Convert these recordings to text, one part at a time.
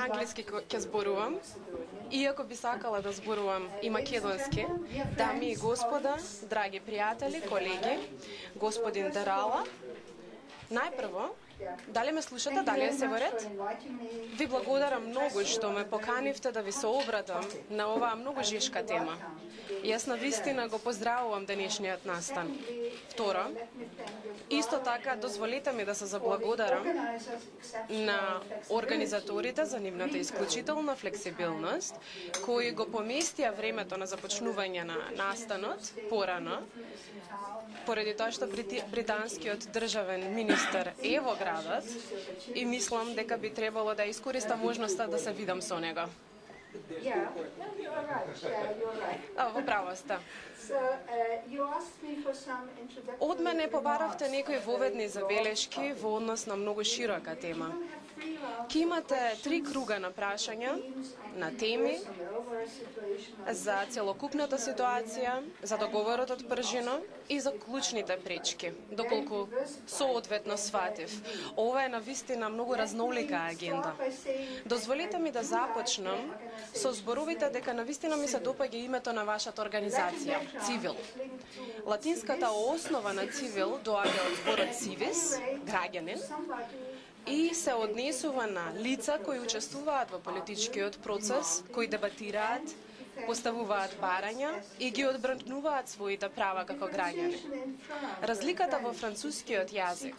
англиски ќе зборувам, иако би сакала да зборувам и македонски. Дами и господа, драги пријатели, колеги, господин Дерала, најпрво, дали ме слушате, дали е се во ред? Ви благодарам многу што ме поканивте да ви се обратам на оваа многу жешка тема. Јас навистина го поздравувам денешниот настан. Второ, исто така дозволете ми да се заблагодарам на организаторите за нивната исклучителна флексибилност, кои го поместија времето на започнување на настанот порано, поради тоа што британскиот државен министер е во градот и мислам дека би требало да искористам можноста да се видам со него. Во право сте. Од мене побаравте некои воведни забелешки во однос на многу широка тема. Ке имате 3 круга на прашања, на теми, за целокупната ситуација, за договорот од Пржино и за клучните пречки, доколку соодветно сватив. Ова е навистина многу разнолика агенда. Дозволите ми да започнам со зборовите дека навистина ми се допаѓа името на вашата организација, Цивил. Латинската основа на Цивил доаѓа од зборот civis, граѓанин, и се однесува на лица кои учествуваат во политичкиот процес, кои дебатираат, поставуваат барања и ги одбрануваат своите права како граѓани. Разликата во францускиот јазик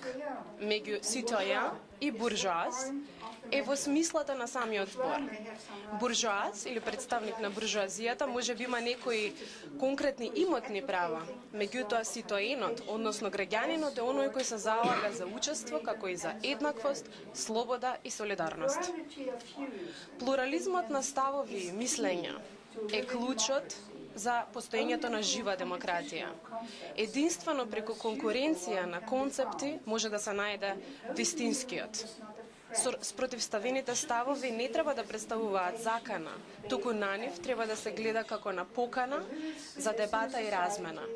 меѓу citoyen и буржоаз е во смислата на самиот збор. Буржоаз или представник на буржоазијата може би има некои конкретни имотни права, меѓутоа ситоенот, односно граѓанинот е оној кој се залага за учество како и за еднаквост, слобода и солидарност. Плурализмот на ставови и мислења е клучот за постоењето на жива демократија. Единствено преку конкуренција на концепти може да се најде вистинскиот. Спротивставените ставови не треба да представуваат закана, туку на нив треба да се гледа како на покана за дебата и размена.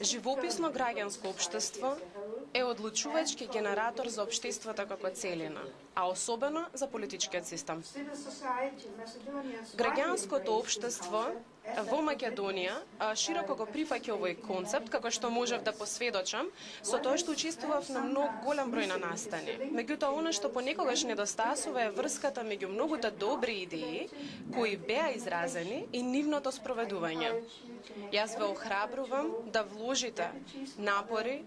Живописно граѓанско општество е одлучувачки генератор за општеството како целина, а особено за политичкиот систем. Граѓанското општество во Македонија широко го прифаќа овој концепт, како што можев да посведочам, со тоа што учествував на многу голем број на настани. Меѓутоа, она што понекогаш недостасува е врската меѓу многуте добри идеи кои беа изразени и нивното спроведување. Јас ве охрабрувам да вложите напори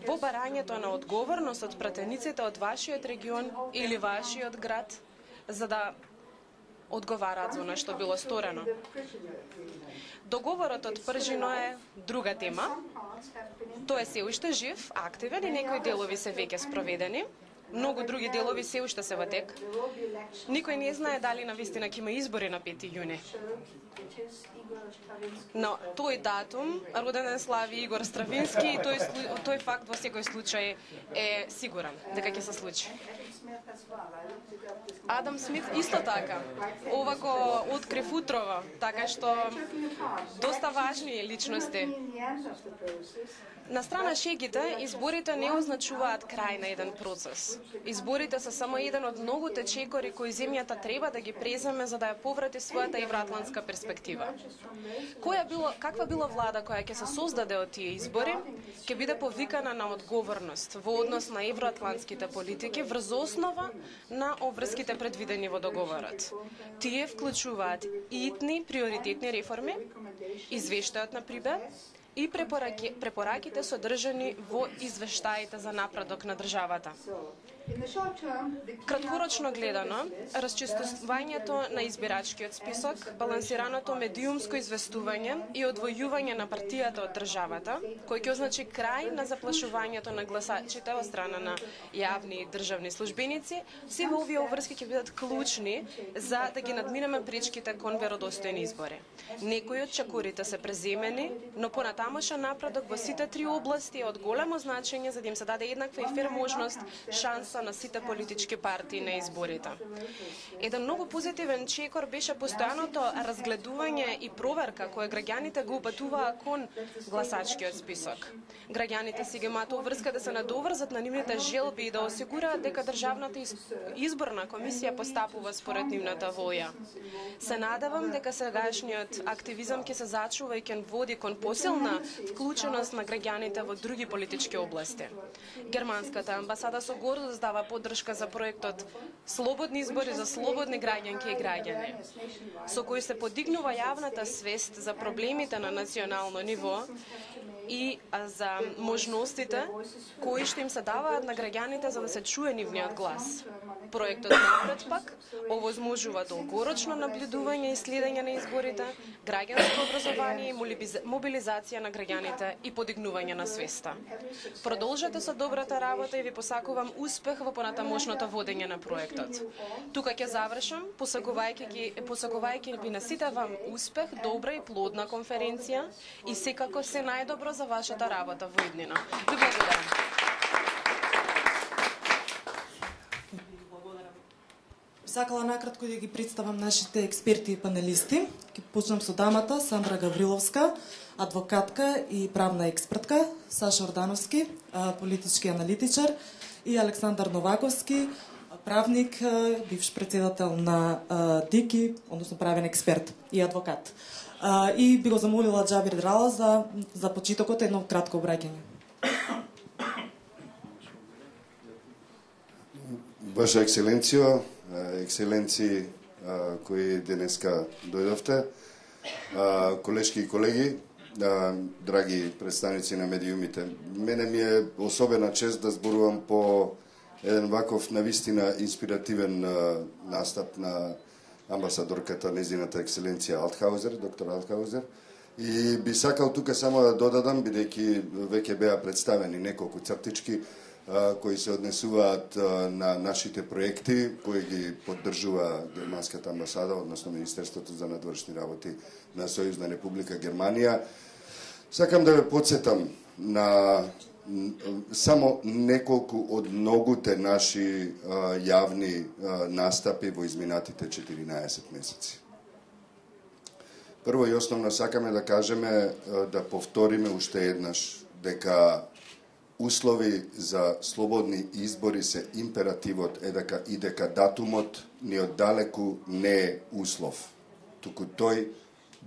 во барањето на одговорност од пратениците од вашиот регион или вашиот град, за да одговараат за она што било сторено. Договорот од Пржино е друга тема. Тој е се уште жив, активен и некои делови се веќе спроведени. Многу други делови се уште се во тек. Никој не знае дали навистина ќе има избори на 5 јуни. Но тој датум, роденден слави Игор Стравински, и тој факт во секој случај е сигурен дека ќе се случи. Адам Смит исто така. Ова го открив утрово, така што доста важни личности. На страна шегите, изборите не означуваат крај на еден процес. Изборите се само еден од многуте чекори кои земјата треба да ги преземе за да ја поврати својата евроатлантска перспектива. Каква била влада која ќе се создаде од тие избори, ќе биде повикана на одговорност во однос на евроатлантските политики врз основа на обврските предвидени во договорот. Тие вклучуваат итни приоритетни реформи, извештајот на Прибе и препораките содржани во извештаите за напредок на државата. Краткорочно гледано, расчистувањето на избирачкиот список, балансираното медиумско известување и одвојување на партијата од државата, кој ќе означи крај на заплашувањето на гласачите од страна на јавни и државни службеници, сите овие обврски ќе бидат клучни за да ги надминеме пречките кон веродостојни избори. Некои од чекорите се преземени, но понатамошен напредок во сите три области е од големо значење за да им се даде еднаква и фер можност, шанса доноса на сите политички партии на изборите. Еден многу позитивен чекор беше постојаното разгледување и проверка која граѓаните го упатуваа кон гласачкиот список. Граѓаните си ги имаат обврска да се надоврзат на нивните желби и да осигураат дека државната изборна комисија постапува според нивната волја. Се надевам дека сегашниот активизам ќе се зачува и ќе води кон посилна вклученост на граѓаните во други политички области. Германската амбасада со гордост дава поддршка за проектот Слободни избори за слободни граѓанки и граѓани, со кој се подигнува јавната свест за проблемите на национално ниво и за можностите кои што им се даваат на граѓаните за да се чуе нивниот глас. Проектот напред пак овозможува долгорочно наблюдување и следење на изборите, граѓанско образование и мобилизација на граѓаните и подигнување на свеста. Продолжете со добрата работа и ви посакувам успех во понатамошното водење на проектот. Тука ќе завршам, посакувајќи ви на сите вам успех, добра и плодна конференција и секако се најдобро за вашата работа во иднина. Ви благодарам. Сакала накратко да ги представам нашите експерти и панелисти. Ќе почнам со дамата Сандра Гавриловска, адвокатка и правна експертка, Саша Ордановски, политички аналитичар и Александар Новаковски, правник, бивш председател на ДИКИ, односно правен експерт и адвокат. И би го замолила Џабир Драла за почетокот едно кратко обраќање. Ваша екселенцијо, екселенци кои денеска дојдовте, колешки и колеги, драги представници на медиумите. Мене ми е особена чест да зборувам по еден ваков навистина инспиративен настап на амбасадорката, незината екселенција Алтхаузер, доктор Алтхаузер. И би сакал тука само да додадам, бидејќи веќе беа представени неколку цртички кои се однесуваат на нашите проекти, кои ги поддржува Германската амбасада, односно Министерството за надворешни работи на Сојузна Република Германија. Сакам да ве потсетам на само неколку од многуте наши јавни настапи во изминатите 14 месеци. Прво и основно сакаме да кажеме, да повториме уште еднаш дека услови за слободни избори се императивот и дека датумот ни оддалеку не е услов, туку тој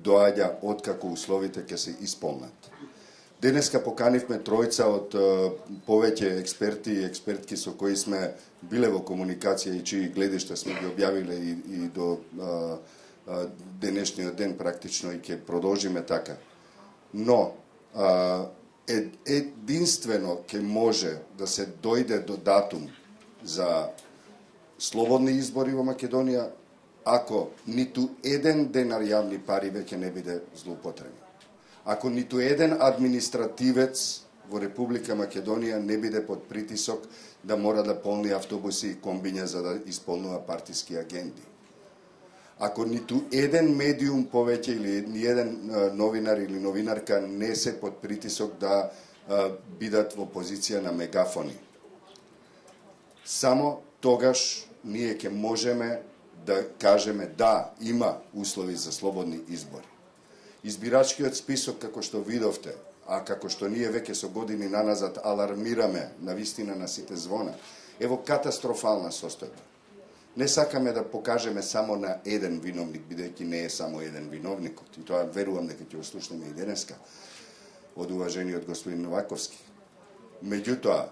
доаѓа откако условите ќе се исполнат. Денеска поканивме тројца од повеќе експерти и експертки со кои сме биле во комуникација и чии гледишта сме ги објавиле и до денешниот ден практично и ќе продолжиме така. Но единствено ќе може да се дојде до датум за слободни избори во Македонија ако ниту еден денар јавни пари веќе не биде злоупотребен. Ако ниту еден административец во Република Македонија не биде под притисок да мора да полни автобуси и комбиња за да исполнува партиски агенди. Ако ниту еден медиум повеќе или ни еден новинар или новинарка не се под притисок да бидат во позиција на мегафони. Само тогаш ние ќе можеме да кажеме да, има услови за слободни избори. Избирачкиот список, како што видовте, а како што ние веќе со години наназад алармираме на вистина на сите звона, е во катастрофална состојба. Не сакаме да покажеме само на еден виновник, бидејќи не е само еден виновникот. И тоа верувам дека ќе го слушнеме и денеска од уважениот господин Новаковски. Меѓутоа,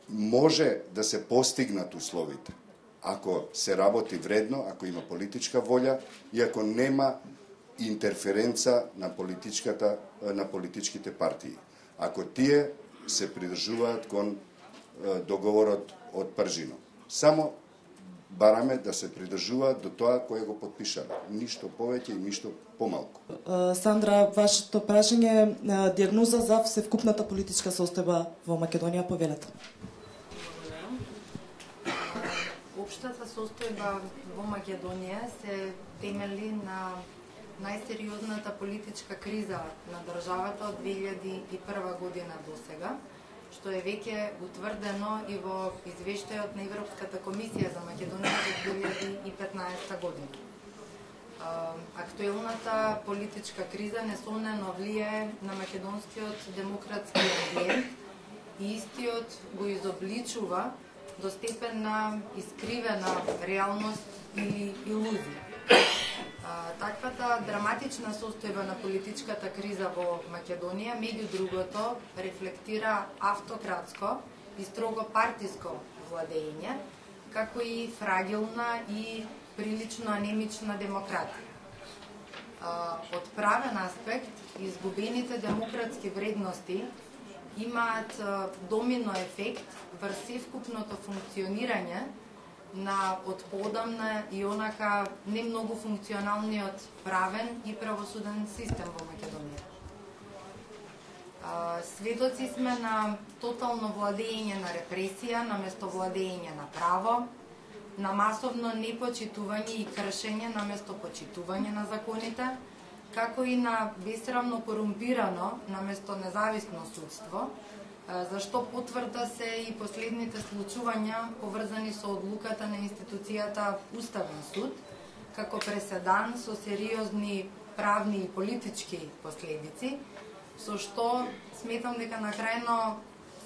може да се постигнат условите, ако се работи вредно, ако има политичка волја и ако нема интерференца на политичките партии. Ако тие се придржуваат кон договорот од Пржино. Само бараме да се придржуваат до тоа кое го подпишале. Ништо повеќе и ништо помалку. Сандра, вашето прашање е диагноза за всевкупната политичка состојба во Македонија, повелете. Општата состојба во Македонија се темели на најсериозната политичка криза на државата од 2001 година до сега, што е веќе утврдено и во извештајот на Европската комисија за Македонија за 2015 година. Актуелната политичка криза несомнено влијае на македонскиот демократски амбиент и истиот го изобличува до степен на искривена реалност и илузија. Таквата драматична состојба на политичката криза во Македонија, меѓу другото, рефлектира автократско и строго партиско владење, како и фрагилна и прилично анемична демократија. Од правен аспект, изгубените демократски вредности имаат домино ефект врз севкупното функционирање на од поодамна и онака не многу функционалниот правен и правосуден систем во Македонија. Сведоци сме на тотално владење на репресија наместо владење на право, на масовно непочитување и кршење наместо почитување на законите, како и на бесрамно корумпирано наместо независно судство, зашто потврда се и последните случувања поврзани со одлуката на институцијата Уставен суд, како преседан со сериозни правни и политички последици, со што сметам дека на крајно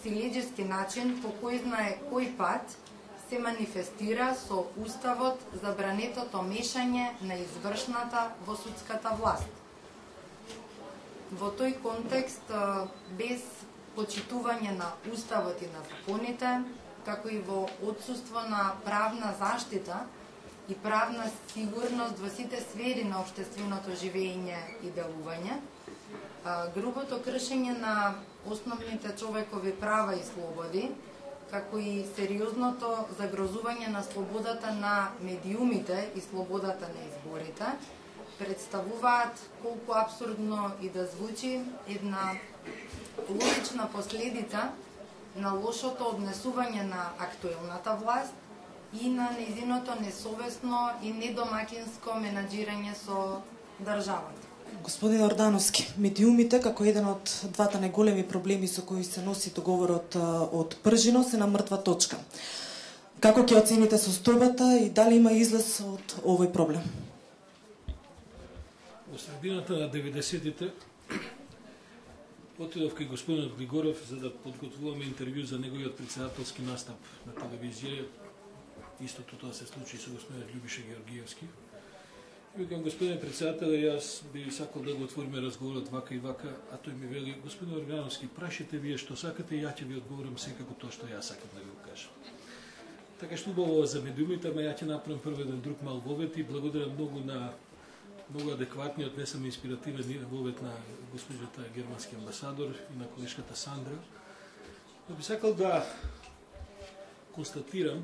силеџески начин, по кој знае кој пат, се манифестира со Уставот забранетото мешање на извршната во судската власт. Во тој контекст, без почитување на Уставот и на законите, како и во отсуство на правна заштита и правна сигурност во сите сфери на општественото живење и делување, грубото кршење на основните човекови права и слободи, како и сериозното загрозување на слободата на медиумите и слободата на изборите, представуваат, колку абсурдно и да звучи, една логична последица на лошото однесување на актуелната власт и на нејзиното несовесно и недомакинско менаџирање со државата. Господин Ордановски, медиумите, како еден од двата најголеми проблеми со кои се носи договорот од Пржино, се на мртва точка. Како ќе оцените состојбата и дали има излез од овој проблем? Во средината на 90-тите отидов кај господинот Григоров за да подготвуваме интервју за неговиот председателски настап на телевизија. Истото тоа се случи со господинот Љубиша Георгиевски. И викам, господин председател, јас би сакал да го отвориме разговорот вака и вака, а тој ми вели, господин Органовски, прашите вие што сакате, ја ќе ви одговорам секако тоа што јас сакам да ви го кажам. Така што убаво за медиумите, ама ја ќе направам прв еден друг мал вовет и благодарам многу на многу адекватниот, не само инспиративен вовет на госпожата германски амбасадор и на колешката Сандра. Но би сакал да констатирам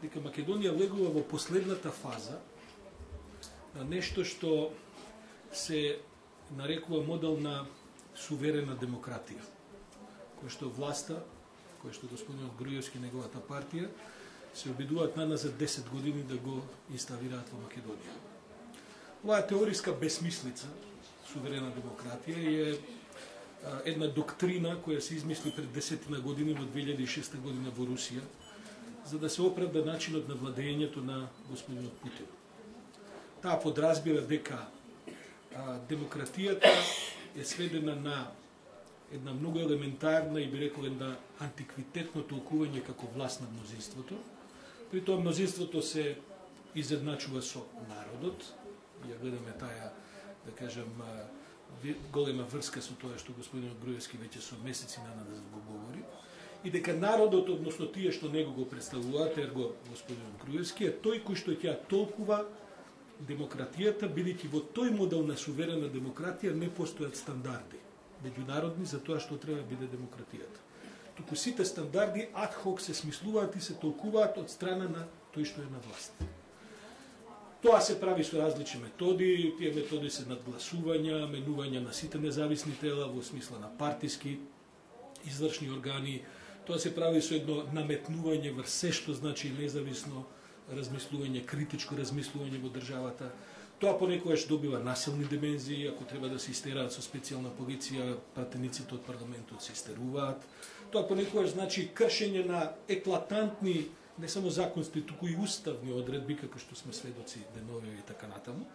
дека Македонија влегува во последната фаза на нешто што се нарекува модел на суверена демократија, кој што власта, кој што господинот Груевски и неговата партија се обидуваат наназад 10 години да го инсталираат во Македонија. Оваа теориска бесмислица, суверена демократија, е една доктрина која се измисли пред 10 години во 2006 година во Русија, за да се оправда начинот на владењето на господинот Путин. Таа подразбира дека демократијата е сведена на една многу елементарна и би рекол една антиквитетно толкување како власт на мнозинството. При тоа мнозинството се изедначува со народот. Ја гледаме таа, да кажам, голема врска со тоа што господинот Груевски веќе со месеци наназад го говори. И дека народот, односно тие што него го представуваат, ерго господинот Груевски, е тој кој што ќе толкува демократијата, бидејќи во тој модел на суверена демократија не постојат стандарди меѓународни за тоа што треба да биде демократијата. Туку сите стандарди ад хок се смислуваат и се толкуваат од страна на тој што е на власт. Тоа се прави со различни методи, тие методи се надгласувања, менување на сите независни тела во смисла на партиски, извршни органи. Тоа се прави со едно наметнување врз се што значи независно размислување, критичко размислување во државата. Тоа понекогаш добива насилни димензии, ако треба да се истераат со специјална полиција, пратениците од парламентот се истеруваат. Тоа понекогаш значи кршење на еклатантни, не само законски, туку и уставни одредби, како што сме сведоци денови и така натаму.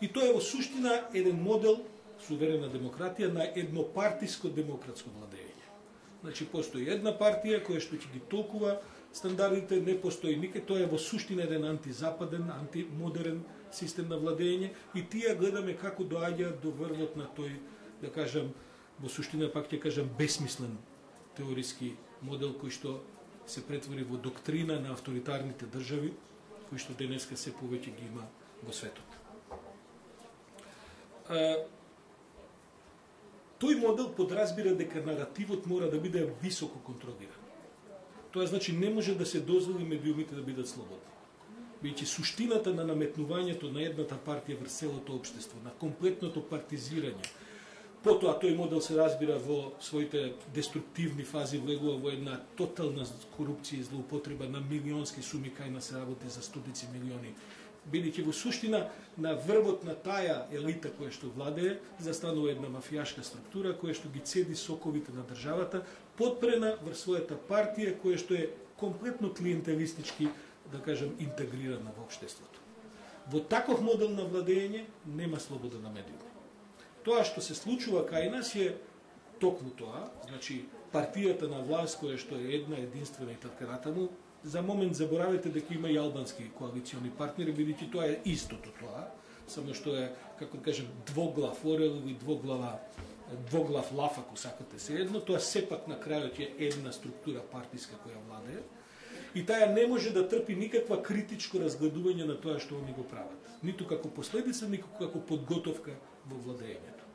И тоа е во суштина еден модел суверена демократија на еднопартиско демократско владење. Значи постои една партија која што ќе ги толкува стандардите, не постои никај, тоа е во суштина еден антизападен, антимодерен систем на владење и тие гледаме како доаѓаат до врвот на тој, да кажам, во суштина пак ќе кажам бесмислен теориски модел кој што се претвори во доктрина на авторитарните држави, кои што денеска се повеќе ги има во светот. Тој модел подразбира дека наративот мора да биде високо контролиран. Тоа значи не може да се дозволи медиумите да бидат слободни. Бидејќи суштината на наметнувањето на едната партија врз целото општество, на комплетното партизирање, потоа тој модел се разбира во своите деструктивни фази, влегува во една тотална корупција и злоупотреба на милионски суми кај нас се работи за стотици милиони. Бидејќи во суштина на врвот на таа елита која што владее, застанува една мафијашка структура која што ги цеди соковите на државата, подпрена врз својата партија која што е комплетно клиентелистички, да кажем, интегрирана во општеството. Во таков модел на владење нема слобода на медиуми. Тоа што се случува кај нас е токму тоа, значи партијата на власт која што е една единствена и така натаму, за момент заборавете дека има и албански коалициони партнери, бидејќи тоа е истото тоа, само што е, како да кажем, двоглав орел или двоглав лав, ако сакате се едно, тоа сепак на крајот е една структура партиска која владее, и таа не може да трпи никаква критичко разгледување на тоа што они го прават. Ниту како последица, ниту како подготовка во владењето.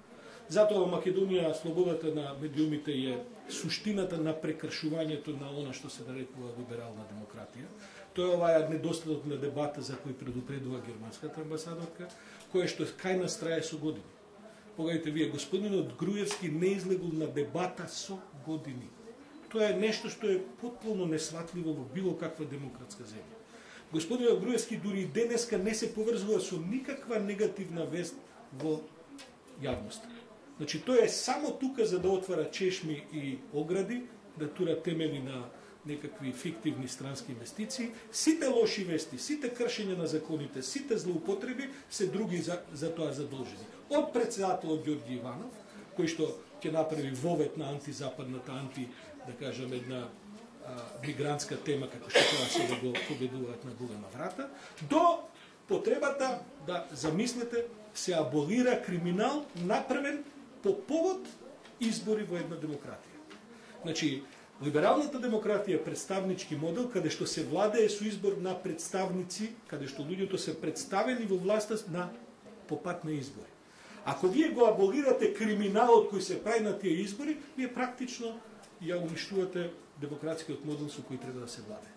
Затоа во Македонија слободата на медиумите е суштината на прекршувањето на она што се нарекува либерална демократија. Тоа е оваа недостаток на дебата за кој предупредува германската амбасадорка, која што кај нас трае со години. Погledajte вие, господинот Груевски не излегол на дебата со години. Тоа е нешто што е потполно несватливо во било каква демократска земја. Господинот Груевски дури и денеска не се поврзува со никаква негативна вест во јавноста. Значи, тој е само тука за да отвара чешми и огради, да тура темели на некакви фиктивни странски инвестиции. Сите лоши вести, сите кршења на законите, сите злоупотреби се други за тоа задолжени. Од председателот Ѓорѓи Иванов, кој што ќе направи вовет на антизападната, да кажем, една мигрантска тема, како што тоа сега го победуваат на голема врата, до потребата да, замислете, се аболира криминал направен по повод избори во една демократија. Значи, либералната демократија е представнички модел, каде што се владее со избор на представници, каде што луѓето се представени во власта на попат на избори. Ако вие го аболирате криминалот кој се прави на тие избори, вие практично ја уништувате демократскиот модел со кој треба да се владее.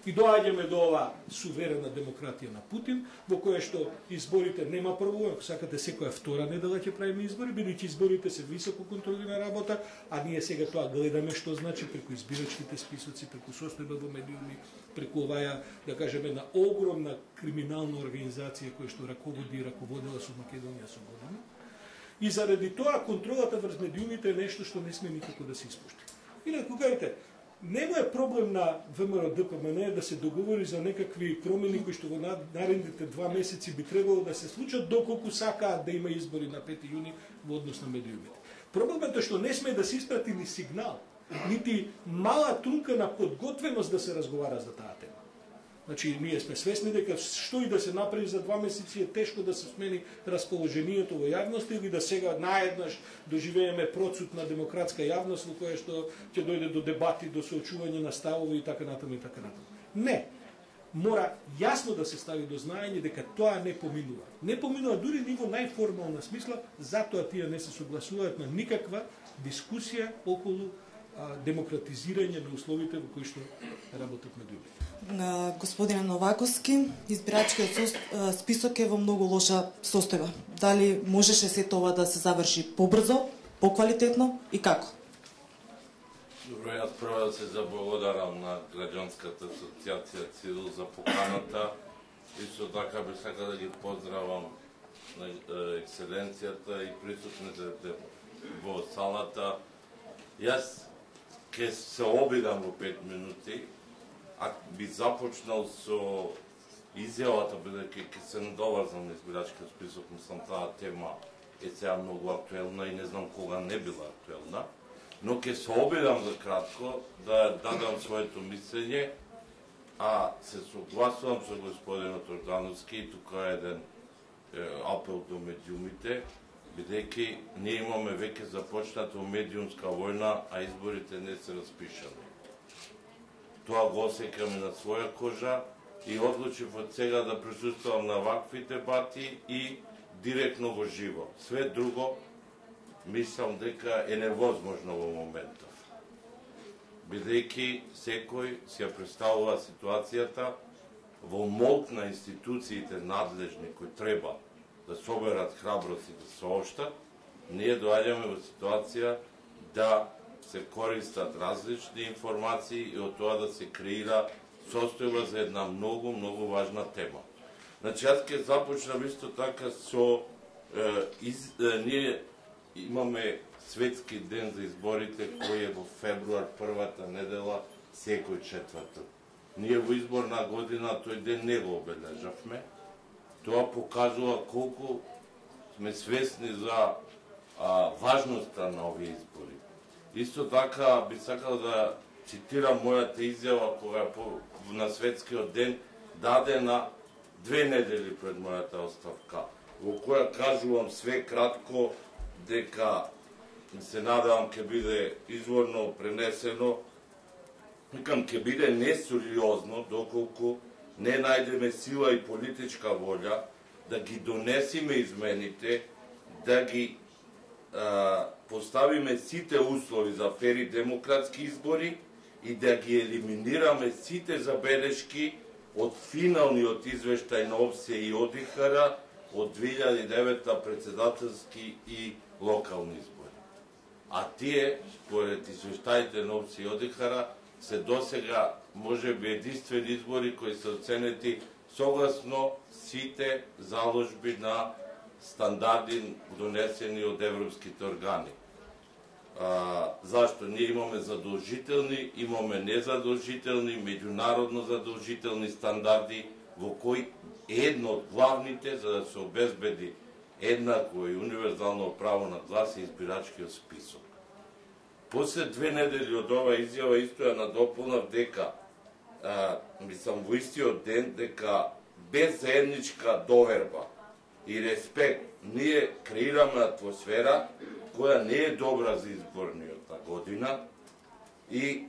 И доаѓаме до ова суверена демократија на Путин, во која што изборите нема прво, ако сакате секоја втора недела ќе правиме избори, бидејќи изборите се високо контролирана работа, а ние сега тоа гледаме што значи преку избирачките списоци, преку состојба во медиуми, преку оваа, да кажеме, една огромна криминална организација која што раководи и раководела со Македонија со години. И заради тоа контролата врз медиумите е нешто што не сме никако да се испушти. Инаку кажете, нема е проблем на ВМРО ДПМН да се договори за некакви промени кои што во наредните 2 месеци би требало да се случат доколку сакаат да има избори на 5 јуни во однос на медиумите. Проблемот е што не сме да се испрати ни сигнал, нити мала трунка на подготвеност да се разговара за таа тема. Значи, ние сме свесни дека што и да се направи за 2 месеци е тешко да се смени расположението во јавност или да сега наеднаш доживееме процут на демократска јавност во која што ќе дојде до дебати, до соочување на ставови и така натаму и така натаму. Не. Мора јасно да се стави до знаење дека тоа не поминува. Не поминува дури ниво најформална смисла, затоа тие не се согласуваат на никаква дискусија околу демократизирање на условите во кои што работат медиумите. Господине Новаковски, избирачкиот список е во многу лоша состојба. Дали можеше се тоа да се заврши побрзо, поквалитетно и како? Добро, јас прво да се заблагодарам на граѓанската асоциација ЦИВИЛ за поканата. Исто така би сакал да ги поздравам на екселенцијата и присутните во салата. Јас ќе се обидам во 5 минути, а би започнал со изјавата, бидејќи ќе се надоврзам на избирачкиот список, мислам таа тема е сега многу актуелна и не знам кога не била актуелна, но ќе се обидам за кратко да дадам своето мислење, а се согласувам со господинот Ордановски и тука е еден апел до медиумите, бидејќи ние имаме веќе започната медиумска војна, а изборите не се распишани. Тоа го осеќаме на своја кожа и одлучив од сега да присуствувам на вакви дебати и директно во живо. Све друго мислам дека е невозможно во моментов. Бидејќи секој си ја представува ситуацијата во молк на институциите надлежни кои треба да соберат храброст и да сообштат, ние доаѓаме во ситуација да се користат различни информации и од тоа да се креира состојба за една многу, многу важна тема. Значи, јас ќе започнам исто така со... ние имаме светски ден за изборите, кој е во февруар, првата недела, секој четврток. Ние во изборна година тој ден не го обележавме. Тоа покажува колку сме свесни за важноста на овие избори. Исто така би сакал да цитирам мојата изјава кога на светскиот ден дадена 2 недели пред мојата оставка, во која кажувам све кратко дека се надевам ќе биде изворно пренесено, викам ќе биде несериозно доколку не најдеме сила и политичка волја да ги донесиме измените, да ги поставиме сите услови за фери демократски избори и да ги елиминираме сите забелешки од финалниот извештај на ОВСЕ и ОДИХР од 2009 председателски и локални избори. А тие, според извештаите на ОВСЕ и ОДИХР, се досега можеби единствени избори кои се оценети согласно сите заложби на стандарди донесени од европските органи. Зашто? Ние имаме задолжителни, имаме незадолжителни, меѓународно задолжителни стандарди во кои едно од главните за да се обезбеди еднакво и универзално право на глас е избирачкиот список. После 2 недели од ова изјава исто ја надополнав дека мислам во истиот ден дека без заедничка доверба и респект ние креираме атмосфера која не е добра за изборниот година и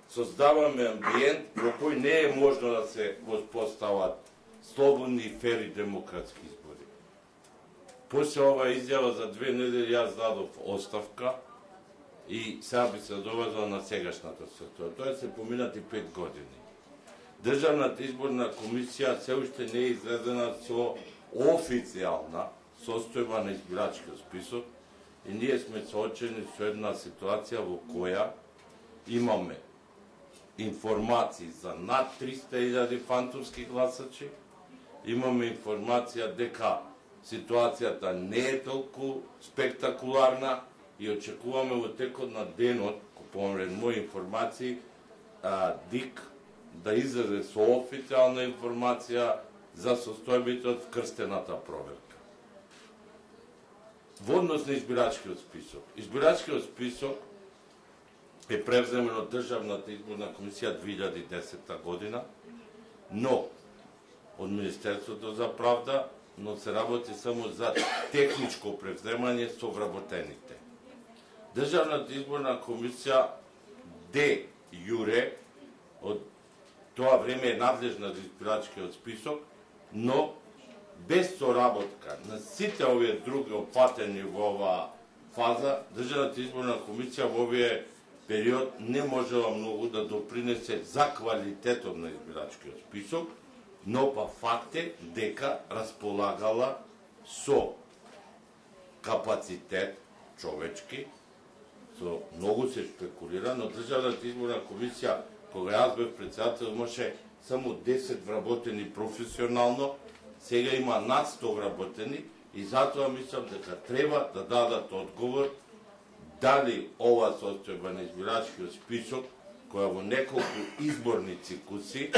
создаваме амбиент во кој не е можно да се воспостават слободни и фери демократски избори. После ова изјава за 2 недели јас дадов оставка и сега би се довезла на сегашната ситуација. Тоа се поминати 5 години. Државната изборна комисија се уште не е излезена со официјална состојба на избирачкиот список и ние сме соочени со една ситуација во која имаме информации за над 300.000 фантомски гласачи, имаме информација дека ситуацијата не е толку спектакуларна и очекуваме во текот на денот, помред мои информации, ДИК да излезе со официјална информација за состојбите од вкрстената проверка. Во однос на избирачкиот список. Избирачкиот список е превземен од Државната изборна комисија 2010 година, но од Министерството за правда, но се работи само за техничко превземање со вработените. Државната изборна комисија де јуре од тоа време е надлежна за избирачкиот список, но без соработка на сите овие други опатени во оваа фаза, Државната изборна комисија во овие период не можела многу да допринесе за квалитетот на избирачкиот список, но па факт е дека располагала со капацитет човечки, со многу се спекулира, но Државната изборна комисија, кога јас бев председател, имаше само 10 вработени професионално сега има над 100 вработени и затоа мислам дека треба да дадат одговор дали ова состојба на избирачкиот список, која во неколку изборни цикуси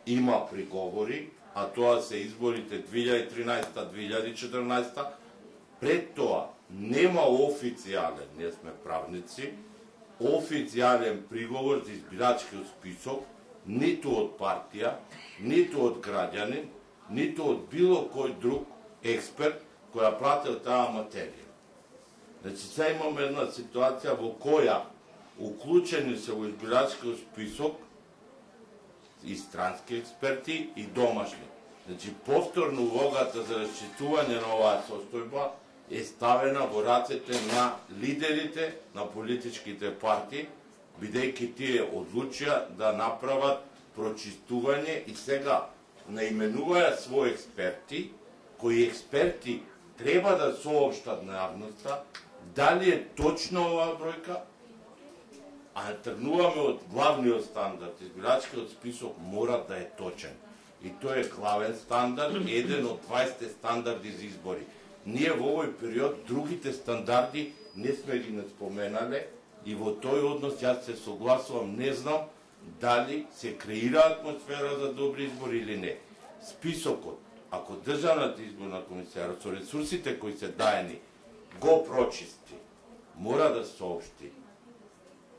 има приговори, а тоа се изборите 2013-2014, пред тоа нема официјален, не сме правници, официјален приговор за избирачкиот список, ниту од партија, ниту од граѓанин, ниту од било кој друг експерт која пратил таа материја. Значи, сега имаме една ситуација во која уклучени се во избирачкиот список и странски експерти и домашни. Значи, повторно улогата за расчитување на оваа состојба е ставена во рацете на лидерите на политичките партии, бидејќи тие одлучија да направат прочистување и сега наименуваја своји експерти, кои експерти треба да соопштат на јавноста дали е точна оваа бројка, а тргнуваме од главниот стандард. Избирачкиот список мора да е точен. И тој е главен стандард, еден од 20 стандарди за избори. Ние во овој период другите стандарди не сме ги не споменале и во тој однос јас се согласувам, не знам дали се креира атмосфера за добри избори или не. Списокот, ако Државната изборна комисија со ресурсите кои се даени го прочисти, мора да соопшти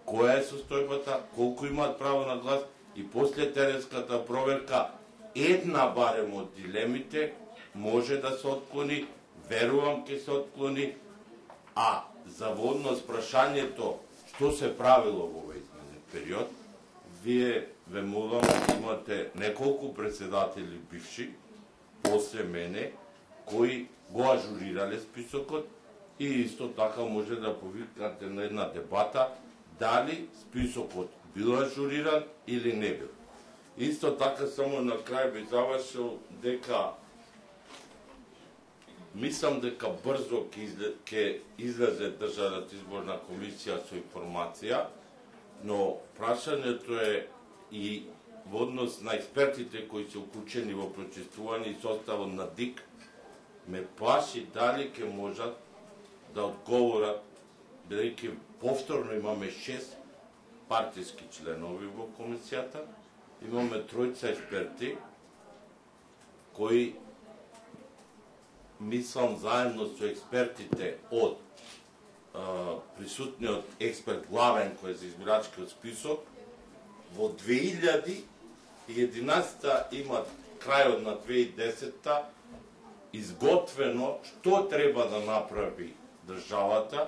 која е состојбата, колку имаат право на глас и после теренската проверка една барем од дилемите може да се отклони, верувам ќе се отклони, а за водно прашањето што се правило во овој изменен период, вие ве молам, имате неколку председатели бивши после мене кои го ажурирале списокот и исто така може да повикнате на една дебата дали списокот бил ажуриран или не бил. Исто така само на крај би завршил дека мислам дека брзо ќе излезе Државната изборна комисија со информација, но прашањето е и во однос на експертите кои се уклучени во прочистување и составот на ДИК, ме плаши дали ќе можат да одговорат, бидејќи повторно имаме 6 партиски членови во комисијата, имаме 3 експерти кои мислам заедно со експертите од присутниот експерт главен кој е за избирачкиот список, во 2011 имат крајот на 2010 изготвено што треба да направи државата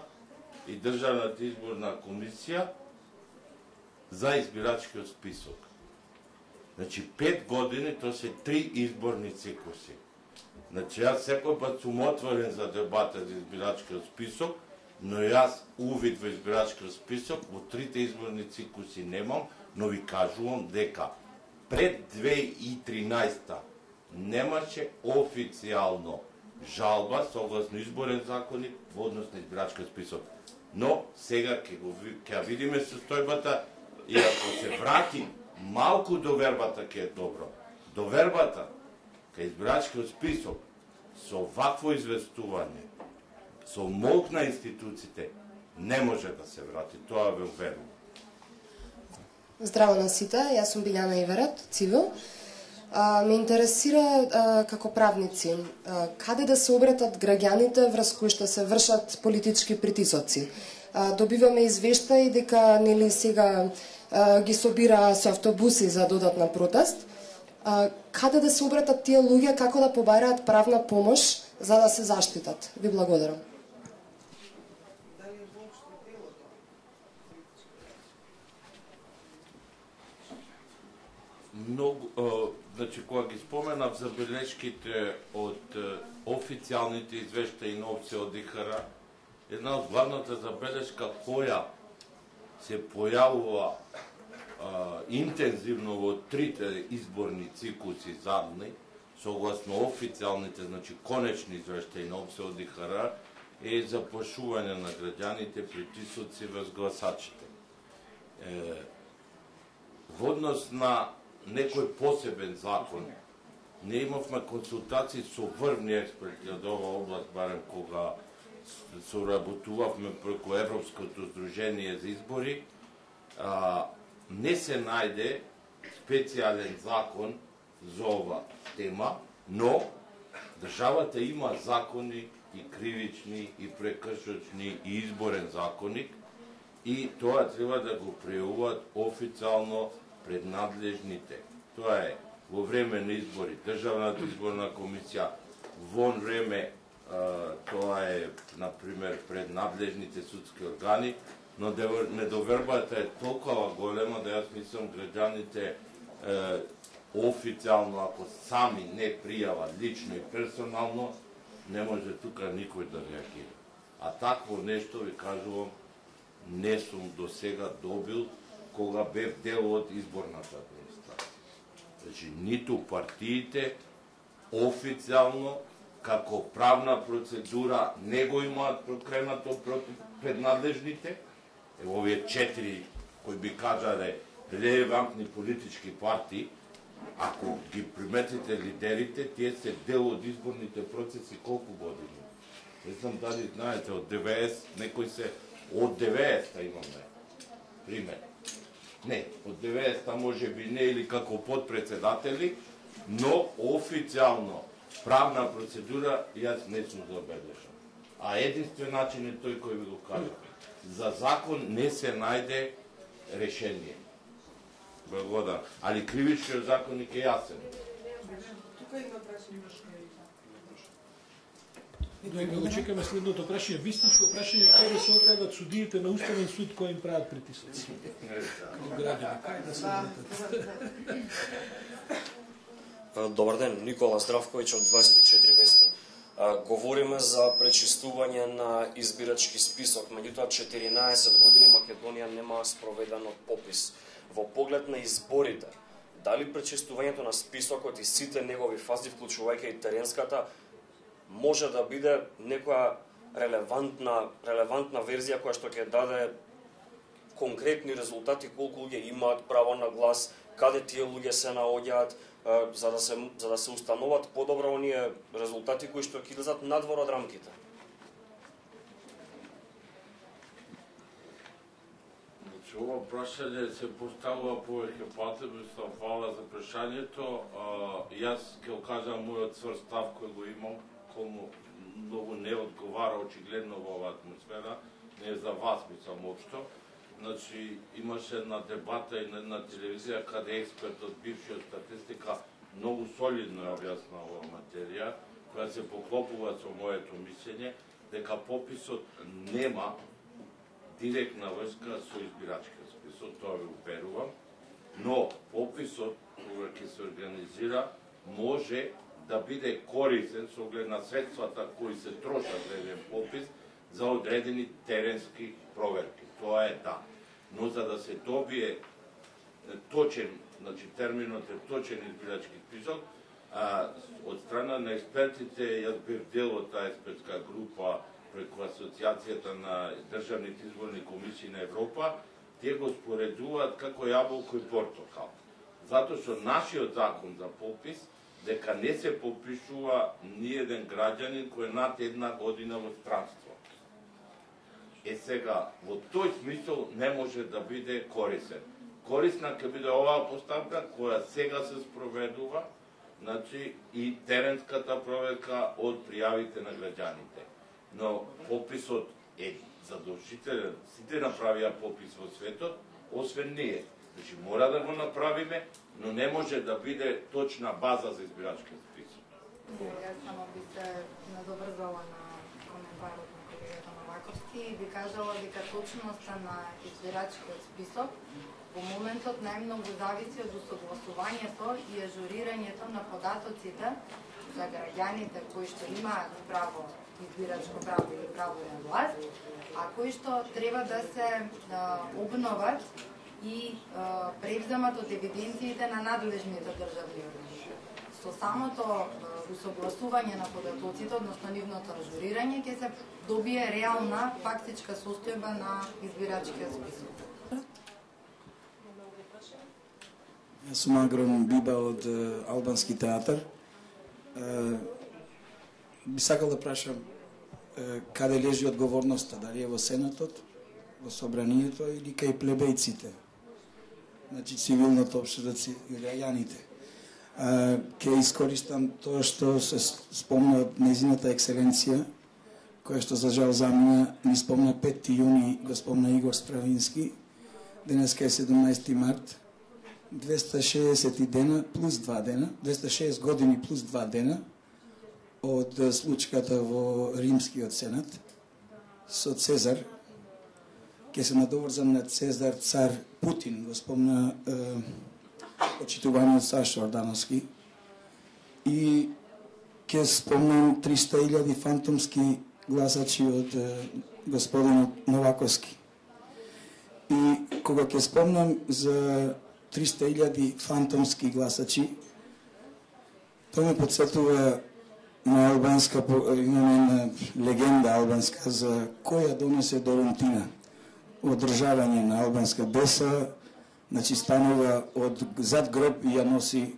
и Државната изборна комисија за избирачкиот список. Значи 5 години, тоа се 3 изборни цикуси. Значи јас секој пат сум отворен за дебата за избирачкиот список, но јас увид во избирачкиот список во 3 изборни цикуси немам, но ви кажувам дека пред 2013 немаше официјално жалба согласно изборен законник во однос на избирачкиот список. Но сега ќе видиме состојбата и ако се врати малку довербата ќе е добро. Довербата кај избирачкиот список со вакво известување, со молк на институциите не може да се врати, тоа ве уверувам. Здраво на сите, јас сум Билјана Иверет, Цивил. Ме интересира како правници, каде да се обратат граѓаните врз кои што се вршат политички притисоци. Добиваме извештаи дека нели сега ги собира со автобуси за додатна протест. Каде да се обратат тие луѓе, како да побараат правна помош за да се заштитат? Ви благодарам. Многу, значи, кога ги споменав забелешките од официјалните извештаи на ОПСЕ од ИХР, една од главната забелешка која се појавува интензивно во 3 изборни цикуси задни, согласно официјалните, значи конечни извештаи на ОПСЕ од ИХР, е заплашување на граѓаните, притисоци врз гласачите. Во однос на некој посебен закон, не имавме консултации со врвни експерти од оваа област, барем кога соработувавме преку Европското здружение за избори, не се најде специјален закон за ова тема, но државата има закони и кривични, и прекршочни, и изборен законник, и тоа треба да го пријавуваат официјално пред надлежните. Тоа е во време на избори Државната изборна комисија, вон време тоа е, например, пред надлежните судски органи, но недовербата е толкова голема да јас мислам граѓаните официјално, ако сами не пријават лично и персонално, не може тука никој да реагира. А такво нешто, ви кажувам, не сум до сега добил кога бев дел од изборната администрација. Значи, ниту партиите официјално, како правна процедура, не го имаат прокренато пред надлежните. Овие 4, кои би кажале релевантни политички партии, ако ги приметите лидерите, тие се дел од изборните процеси колку години? Не знам дали знаете, од 90, некои се од 90-та имаме пример. Не, од 90-та може би не или како подпредседатели, но официјално правна процедура јас не сум забележал. А единствен начин е тој кој ви го кажа. За закон не се најде решение. Благодарам. Али кривичниот законник е јасен. Тука има прашање. Да го чекаме следното прашање. Вистинско прашање, кај да се отредат судиите на Уставен суд кои им прават притисоци? Како граѓани, кај да се отредат? Добар ден, Никола Здравковиќ од 24 вести. Говориме за пречистување на избирачки список, меѓутоа 14 години Македонија нема спроведен попис. Во поглед на изборите, дали пречистувањето на списокот и сите негови фази, вклучувајќи и теренската, може да биде некоја релевантна верзија која што ќе даде конкретни резултати, колку луѓе имаат право на глас, каде тие луѓе се наоѓаат, за да се установат подобро оние резултати кои што ќе излезат надвор од рамките. Значи, ова прашање се поставува повеќе пати, мислам, фала за прашањето. Јас ќе кажам мојот цврст став кој го имам, кому многу не одговара очигледно во оваа атмосфера, не е за вас, мислам, општо. Значи, имаше една дебата и на една телевизија каде експерт од бившиот статистика многу солидно ја објасна оваа материја, која се поклопува со моето мислење, дека пописот нема директна врска со избирачкиот список, тоа ви уверувам, но пописот, кога ќе се организира, може да биде корисен со оглед на средствата кои се трошат за еден попис за одредени теренски проверки. Тоа е да. Но за да се добие точен, значи терминот е точен избирачки список, од страна на експертите, јас бев дел од таа експертска група преку Асоциацијата на државните изборни комисии на Европа, тие го споредуваат како јаболко и портокал. Затоа што нашиот закон за попис дека не се попишува ни еден граѓанин кој е над една година во странство. Сега, во тој смисол не може да биде корисен. Корисна ќе биде оваа поставка која сега се спроведува, значи и теренската проверка од пријавите на граѓаните. Но пописот е задолжителен. Сите направија попис во светот, освен ние. Значи мора да го направиме, но не може да биде точна база за избирачки список. Јас само би се надоврзала на коментарот на колегата Новаковски и би кажала дека точноста на избирачкиот список во моментот најмногу зависи од усогласувањето и ажурирањето на податоците за граѓаните кои што имаат право, избирачко право или право на глас, а кои што треба да се обноват и превземат од евиденциите на надлежните државни органи. Со самото усогласување на податоците, односно нивното ажурирање, ќе се добие реална фактичка состојба на избирачкиот список. Јас сум Агрон Биба од Албански театар. би сакал да прашам каде лежи одговорноста, дали е во Сенатот, во Собранието или кај плебејците, значи цивилното општество и граѓаните. Ке искористам тоа што се спомна незината екселенција, која што за жал замина, ни спомна 5. јуни, го спомна Игор Стравински, денеска е 17. март, 260 дена плюс 2 дена, 260 години плюс 2 дена од случката во Римскиот Сенат со Цезар. Ке се надоврзам на Цезар цар Путин, го спомна почитуваниот Сашо Ордановски, и ке спомнам 300.000 фантомски гласачи од господинот Новаковски. И кога ќе спомнам за 300.000 фантомски гласачи, тоа ме подсетува на албанска, имаме една легенда албанска за која донесе Дорунтина. Одржавање на албанска деса, значи станува од зад гроб и ја носи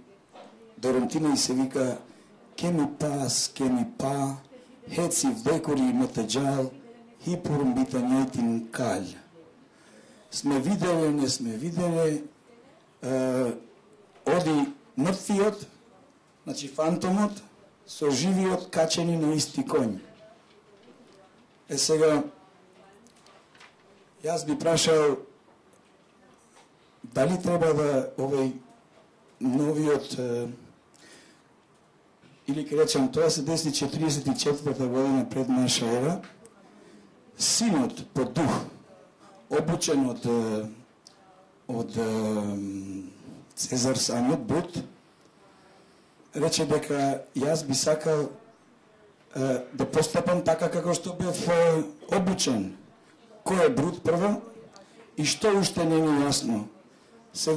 Дорунтина и се вика ке ми па, хеци вдекори метаджал, хипурум битањајтин калј. Сме виделе, не сме виделе, оди мртвиот, значи фантомот, со живиот качени на исти коњ. Сега, јас би прашал дали треба да овој новиот, или ке речем, тоа се деси 44-та година пред наша ера, синот по дух, обучен од Цезар самиот Брут, рече дека јас би сакал да постапам така како што бев обучен. Кој е Брут прво и што уште не ми јасно. Се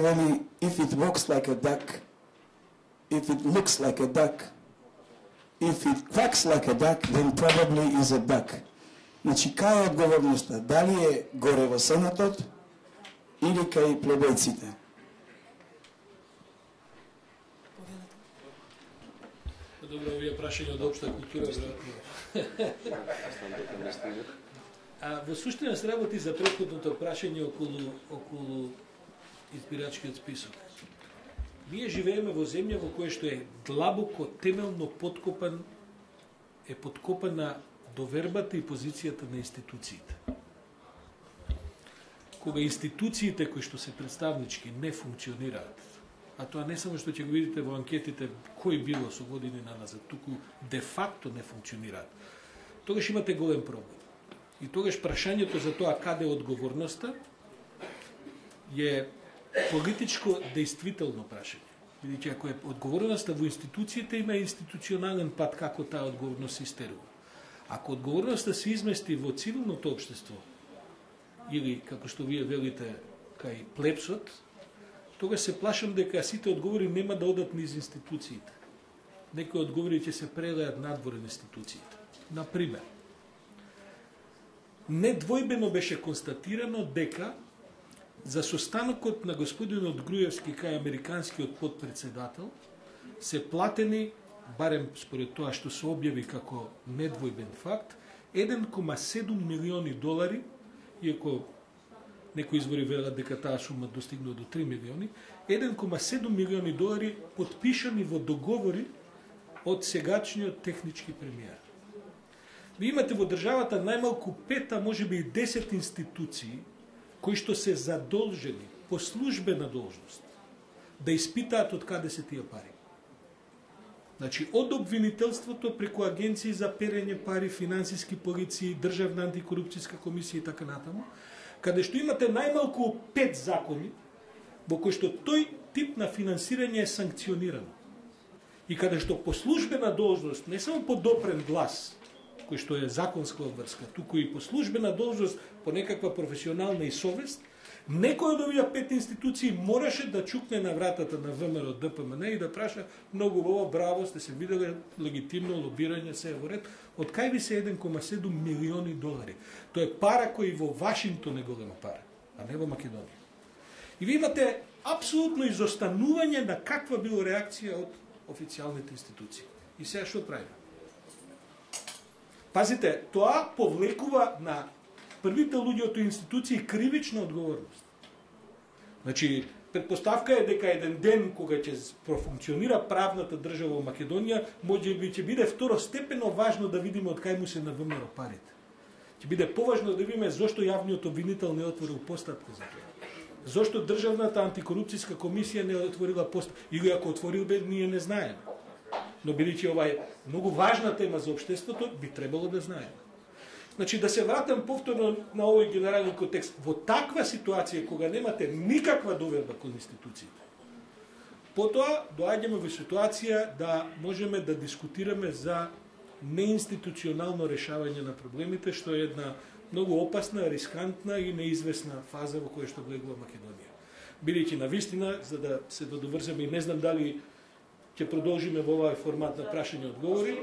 вели if it walks like a duck, if it looks like a duck, if it quacks like a duck, then probably is a duck. Значи, кај е одговорноста? Дали е горе во Сенатот или кај плебејците? Добро, овие прашања од општа култура, веројатно. Во суштина се работи за претходното прашање околу избирачкиот список. Ние живееме во земја во која што е длабоко, темелно подкопана довербата и позицијата на институциите. Кога институциите кои што се представнички не функционираат, а тоа не само што ќе го видите во анкетите кој било со години наназад, туку де факто не функционираат, тогаш имате голем проблем. И тогаш прашањето за тоа каде е одговорноста е политичко действително прашање. Бидејќи ако е одговорноста во институциите, има институционален пат како таа одговорност се истерува. Ако одговорноста се измести во цивилното општество, или, како што вие велите, кај плебсот, тога се плашам дека сите одговори нема да одат низ институциите. Некои одговори ќе се прелеат надвор од институциите. Например, недвојбено беше констатирано дека за состанокот на господинот Груевски кај американскиот подпредседател се платени, барем според тоа што се објави како недвојбен факт, 1,7 милиони долари, иако некои извори велат дека таа сума достигнува до 3 милиони, 1,7 милиони долари подпишани во договори од сегачниот технички премиер. Ви имате во државата најмалку 5, а може би и 10 институции кои што се задолжени по службена должност да испитаат од каде се тие пари. Значи, од обвинителството преку агенции за перење пари, финансиски полиции, државна антикорупцијска комисија и така натаму, каде што имате најмалку 5 закони во кои што тој тип на финансирање е санкционирано. И каде што по службена должност, не само по допрен глас, кој што е законска обврска, туку и по службена должност, по некаква професионална и совест, некој од овие 5 институции мораше да чукне на вратата на ВМРО ДПМН и да праша многу убаво, браво, сте се виделе легитимно лобирање, се е во ред. Од кај ви се 1,7 милиони долари? Тоа е пара кој во Вашингтон е голема пара, а не во Македонија. И ви имате апсолутно изостанување на каква било реакција од официјалните институции. И сега што правиме? Пазите, тоа повлекува на првите луѓе од институции кривична одговорност. Значи, предпоставка е дека еден ден кога ќе профункционира правната држава во Македонија, можеби ќе биде второстепено важно да видиме од кај му се навмро парите. Ќе биде поважно да видиме зошто јавниот обвинител не отворил постапка за тоа. Зошто државната антикорупцијска комисија не отворила постапка, или ако отворил бе, ние не знаеме. Но бидејќи ова е многу важна тема за општеството, би требало да знаеме. Значи, да се вратам повторно на овој генерален контекст. Во таква ситуација, кога немате никаква доверба кон институциите, потоа доаѓаме во ситуација да можеме да дискутираме за неинституционално решавање на проблемите, што е една многу опасна, рискантна и неизвестна фаза во која што влегува Македонија. Бидејќи навистина, за да се додоврземе и не знам дали ќе продолжиме во овој формат на прашање и одговори.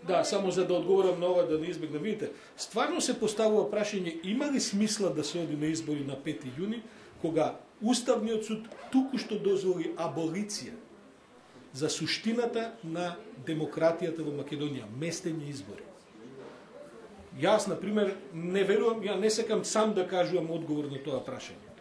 Да, само за да одговорам на ова, да не избегнам. Видите, стварно се поставува прашање, има ли смисла да се оди на избори на 5 јуни, кога Уставниот суд туку што дозволи аболиција за суштината на демократијата во Македонија, местење избори. Јас, например, не верувам, ја не сакам сам да кажувам одговор на тоа прашање.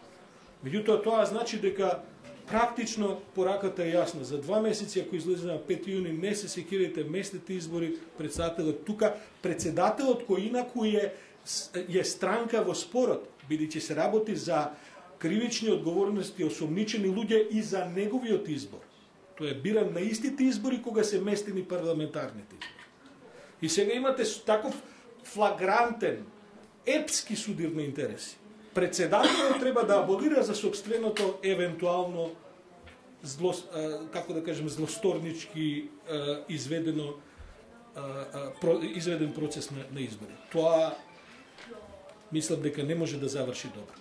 Меѓутоа, тоа значи дека практично пораката е јасна. За 2 месеци, ако излезе на 5 јуни, не се секирайте, местните избори, председателот тука, председателот кој инаку е странка во спорот, бидејќи се работи за кривични одговорности, осомничени луѓе и за неговиот избор. Тој е биран на истите избори кога се местени парламентарните избори. И сега имате таков флагрантен, епски судир на интереси. Председателот треба да аболира за собственото евентуално како да кажем злосторнички изведен процес на избори. Тоа мислам дека не може да заврши добро.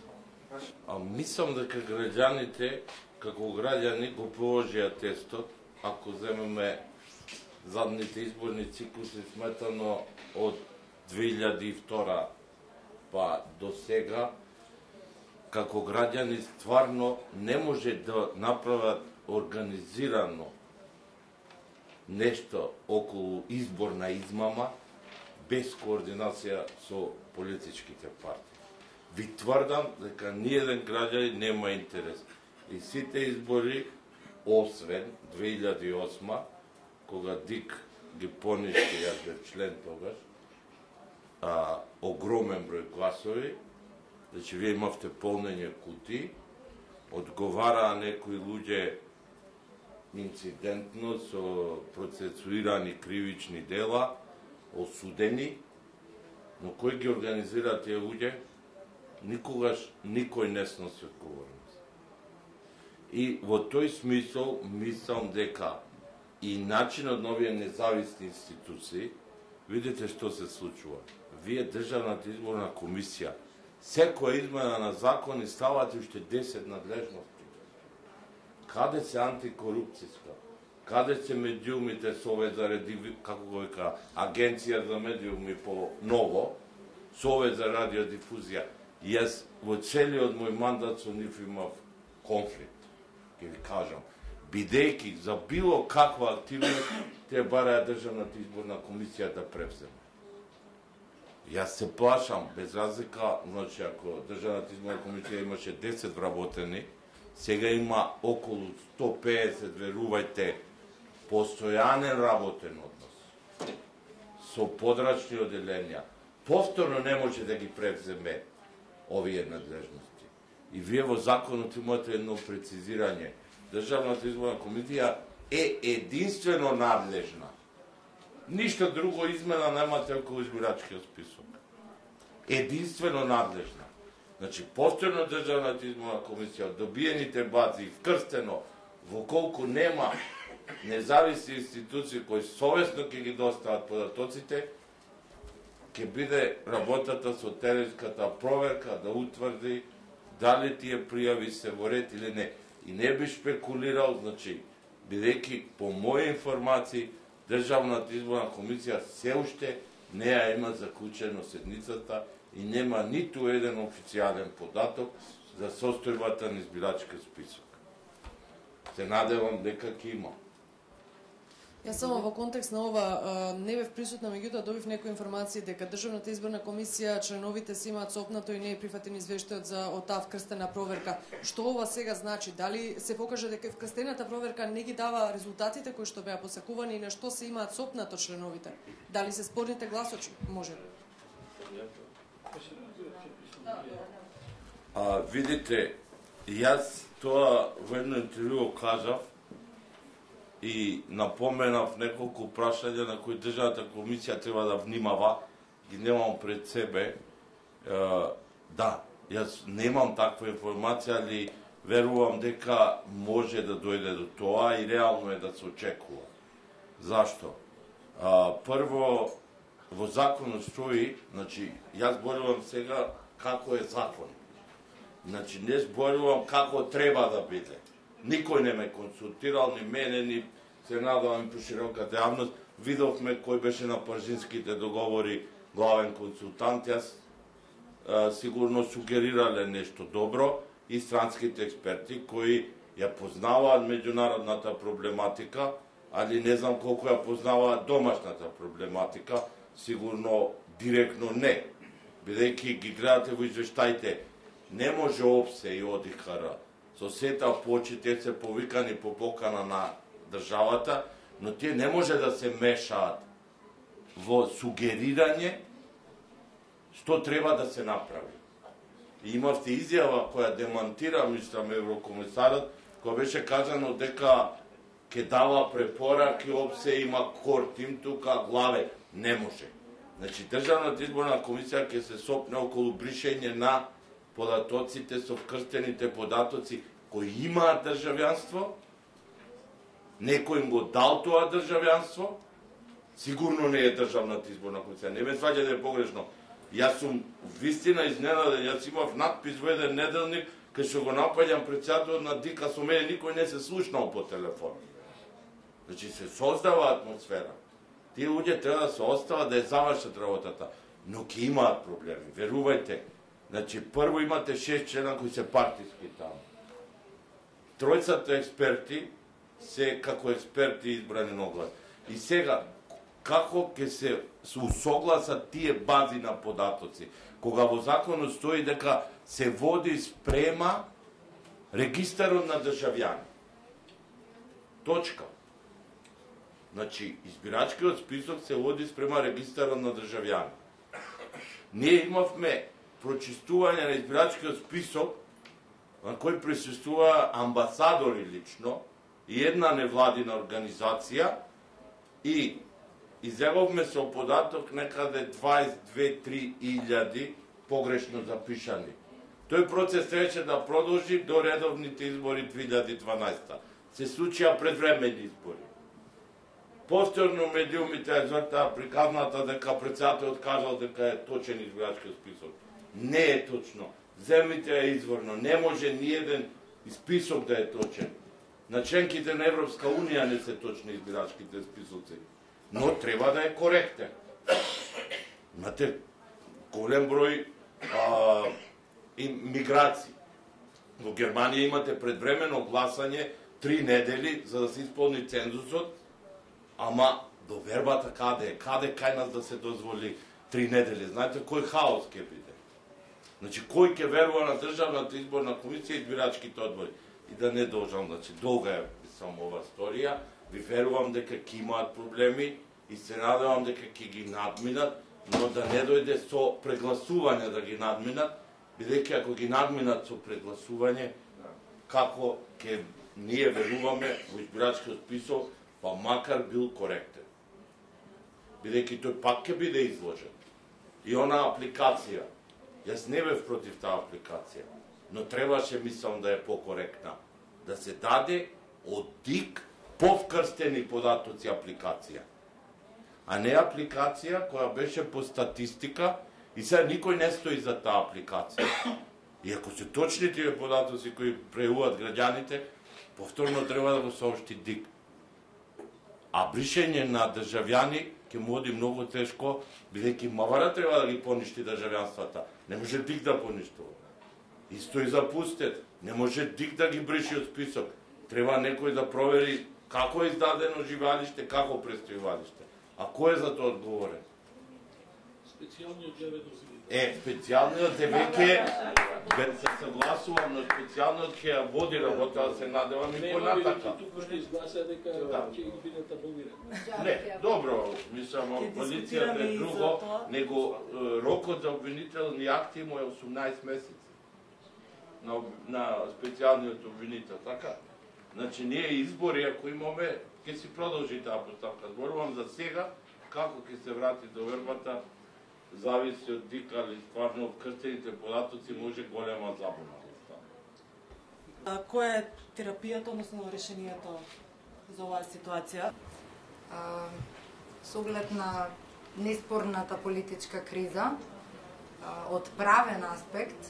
Мислам дека граѓаните како граѓани го положија тестот, ако земеме задните изборни циклуси сметано од 2002 па до сега, како граѓани стварно не може да направат организирано нешто околу изборна измама без координација со политичките партии. Ви тврдам дека ниеден граѓанин нема интерес. И сите избори, освен 2008, кога ДИК ги поништи, јас бев член тогаш, огромен број гласови, значи вие имавте полнење кутии, одговараа некои луѓе инцидентно со процесуирани кривични дела, осудени, но кој ги организира тие луѓе? Никогаш никој не сноси одговорност. И во тој смисол мислам дека и начинот на овие независни институции, видите што се случува. Вие Државната изборна комисија, секоја измена на закони ставате уште 10 надлежности. Каде се антикорупцијска? Каде се медиумите совет за како го века, агенција за медиуми по ново, совет за радиодифузија? Јас во целиот мој мандат со нив имав конфликт, ќе ви кажам. Бидејќи за било каква активност, те бараја Државната изборна комисија да превземе. Јас се плашам, без разлика, значи ако Државната изборна комисија имаше 10 вработени, сега има околу 150, верувајте, постојанен работен однос со подрачни оделенја. Повторно не може да ги превземе овие надлежности. И вие во законот имате едно прецизирање. Државната изборна комисија е единствено надлежна. Ништо друго измена немате околу избирачкиот список. Единствено надлежна. Значи, повторно Државната изборна комисија, добиените бази, вкрстено, во колку нема независни институции кои совесно ќе ги достават податоците, ќе биде работата со теренската проверка да утврди дали тие пријави се во ред или не. И не би шпекулирал, значи, бидејќи по моји информации Државната изборна комисија се уште не ја има заклучено седницата и нема ниту еден официјален податок за состојбата на избирачки список. Се надевам дека ќе има. Јас само во контекст на ова не бев присутна, меѓутоа добив некои информации дека Државната изборна комисија, членовите си имаат сопнато и не е прифатен извештајот за таа вкрстена проверка. Што ова сега значи? Дали се покаже дека вкрстената проверка не ги дава резултатите кои што беа посакувани и на што се имаат сопнато членовите? Дали се спорните гласочи? Може. Видите, јас тоа во едно интервју кажав и напоменав неколку прашања на кои Државната комисија треба да внимава, ги немам пред себе. Да, јас немам таква информација, али верувам дека може да дојде до тоа и реално е да се очекува. Зашто? Прво, во законот стои, значи, јас зборувам сега како е закон. Значи, не зборувам како треба да биде. Никој не ме консултирал, ни мене, ни се надавам по широката јавност. Видовме кој беше на Паржинските договори главен консултант. Јас сигурно сугерирале нешто добро и странските експерти кои ја познаваат меѓународната проблематика, али не знам колку ја познаваат домашната проблематика, сигурно директно не. Бидејќи ги гледате во извештаите, не може ОПСЕ и ОДИХР со сета почит, те се повикани по покана на државата, но тие не може да се мешаат во сугерирање што треба да се направи. И имавте изјава која демантира, мислам, еврокомисарот, која беше кажано дека ќе дава препораки, ОПСЕ има кор тим тука, главе. Не може. Значи, Државната изборна комисија ќе се сопне околу бришење на податоците со вкрстените податоци кои имаат државјанство, некој им го дал тоа државјанство, сигурно не е Државната изборна комисија. Не ме сваѓа да е погрешно. Јас сум вистина изненаден, јас имав надпис во еден неделник, кај што го напаѓам председателот на ДИК, со мене никој не се слушнал по телефон. Значи се создава атмосфера. Тие луѓе треба да се остават да ја завршат работата, но ќе имаат проблеми, верувајте. Значи, прво имате 6 члена кои се партиски таму. Тројцата експерти се како експерти избрани на оглас. И сега, како ќе се усогласат тие бази на податоци? Кога во законот стои дека се води спрема регистарот на државјани. Точка. Значи, избирачкиот список се води спрема регистарот на државјани. Ние имавме прочистување на избирачкиот список на кој присуствува амбасадори лично и една невладина организација и изјавовме со податок некаде 22-3 илјади погрешно запишани. Тој процес требаше да продолжи до редовните избори 2012. Се случија предвременни избори. Повторно медиумите извртаа приказната дека председателот кажал дека е точен избирачки список. Не е точно. Земите е изворно. Не може ни еден список да е точен. На членките на Европска Унија не се точни избирачките списоци. Но треба да е коректен. Имате голем број миграции. Во Германија имате предвремено гласање 3 недели за да се исполни цензусот, ама довербата каде е? Каде кај нас да се дозволи 3 недели? Знаете кој хаос ќе биде? Значи, кој ќе верува на Државната изборна комисија и избирачките одбори? И да не должам, значи, долга е само ова сторија, ви верувам дека ќе имаат проблеми и се надевам дека ќе ги надминат, но да не дојде со прегласување да ги надминат, бидејќи ако ги надминат со прегласување, како ќе ние веруваме во избирачкиот список, па макар бил коректен. Бидејќи тој пак ќе биде изложен. И она апликација, јас не бев против таа апликација, но требаше, мислам, да е покоректна. Да се даде од ДИК повкрстени податоци апликација. А не апликација која беше по статистика и сега никој не стои за таа апликација. И ако се точни тие податоци кои преуват граѓаните, повторно треба да го соопшти ДИК. А бришење на државјани ќе му оди многу тешко, бидејќи Мавара треба да ги поништи државјанствата. Не може ДИК да поништува. Исто и за пустет. Не може ДИК да ги брише од список. Треба некој да провери како е издадено живеалиште, како престојувалиште. А кој е за тоа одговорен? Специјалниот џеведов. Специјалниот е веќе се согласувам, но специјалниот ќе ја води работа, да се надевам и понатака. Туку што изгласа дека ќе ги бидат аболирани. Не, добро, мислам, полицијата е друго, него рокот за обвинителни акти му е 18 месеци на специјалниот обвинител, така? Значи, ние избори, ако имаме, ќе си продолжи таа поставка. Зборувам за сега, како ќе се врати до вербата, зависи од ДИК, али стварно од крстените податоци може голема забуна. Која е терапијата, односно решението за оваа ситуација? Со оглед на неспорната политичка криза, од правен аспект,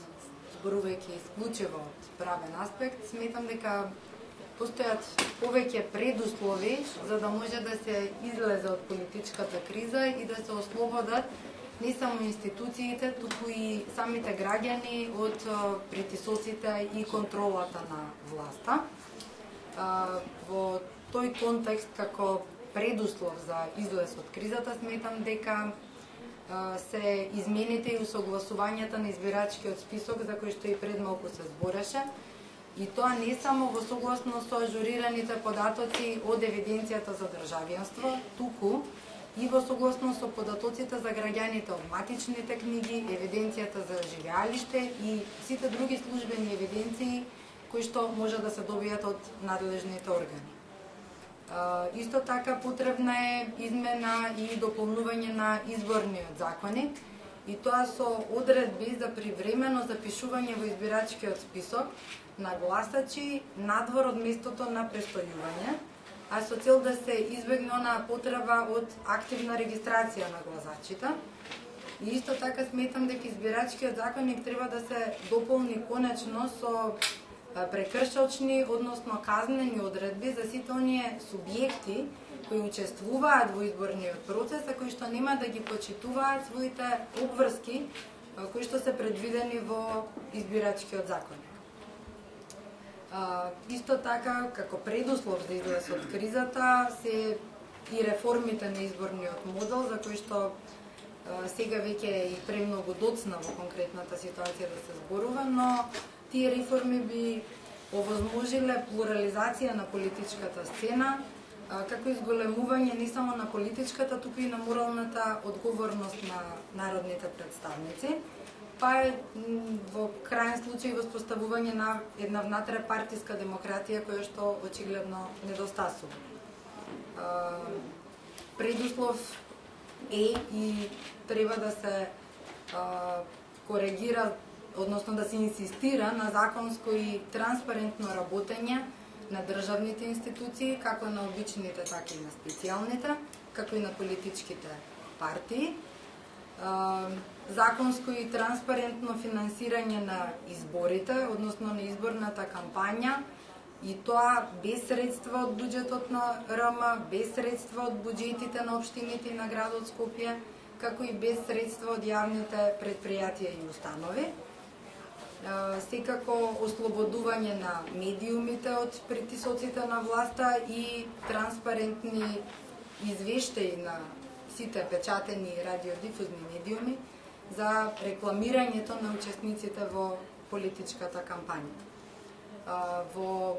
зборувајќи исклучиво од правен аспект, сметам дека постојат повеќе предуслови за да може да се излезе од политичката криза и да се ослободат не само институциите, туку и самите граѓани од притисоците и контролата на власта. Во тој контекст, како предуслов за излез од кризата, сметам дека се измените и усогласувањата на избирачкиот список, за кој што и пред малку се збореше, и тоа не само во согласно со ажурираните податоци од евиденцијата за државјанство, туку и во согласно со податоците за граѓаните од матичните книги, евиденцијата за живеалиште и сите други службени евиденции кои што може да се добијат од надлежните органи. Исто така потребна е измена и дополнување на изборниот законник, и тоа со одредби за привремено запишување во избирачкиот список на гласачи надвор од местото на престојување, а со цел да се избегне онаа потреба од активна регистрација на гласачите. И исто така сметам дека избирачкиот законник треба да се дополни конечно со прекршочни, односно казнени одредби за сите оние субјекти кои учествуваат во изборниот процес, а кои што нема да ги почитуваат своите обврски кои што се предвидени во избирачкиот законник. Исто така, како предуслов за излез од кризата се и реформите на изборниот модел, за кои што сега веќе е и премногу доцна во конкретната ситуација да се зборува, но тие реформи би овозможиле плурализација на политичката сцена, како изголемување не само на политичката, туку и на моралната одговорност на народните представници, па е во крајен случај воспоставување на една внатрепартиска демократија која што очигледно недостасува. Предуслов е и треба да се коригира, односно да се инсистира на законско и транспарентно работење на државните институции, како на обичните, така и на специјалните, како и на политичките партии. Законско и транспарентно финансирање на изборите, односно на изборната кампања, и тоа без средства од буџетот на РМ, без средства од буџетите на општините и на градот Скопје, како и без средства од јавните предпријатија и установи. Секако ослободување на медиумите од притисоците на власта и транспарентни извештаи на сите печатени и радиодифузни медиуми за рекламирањето на учесниците во политичката кампања. Во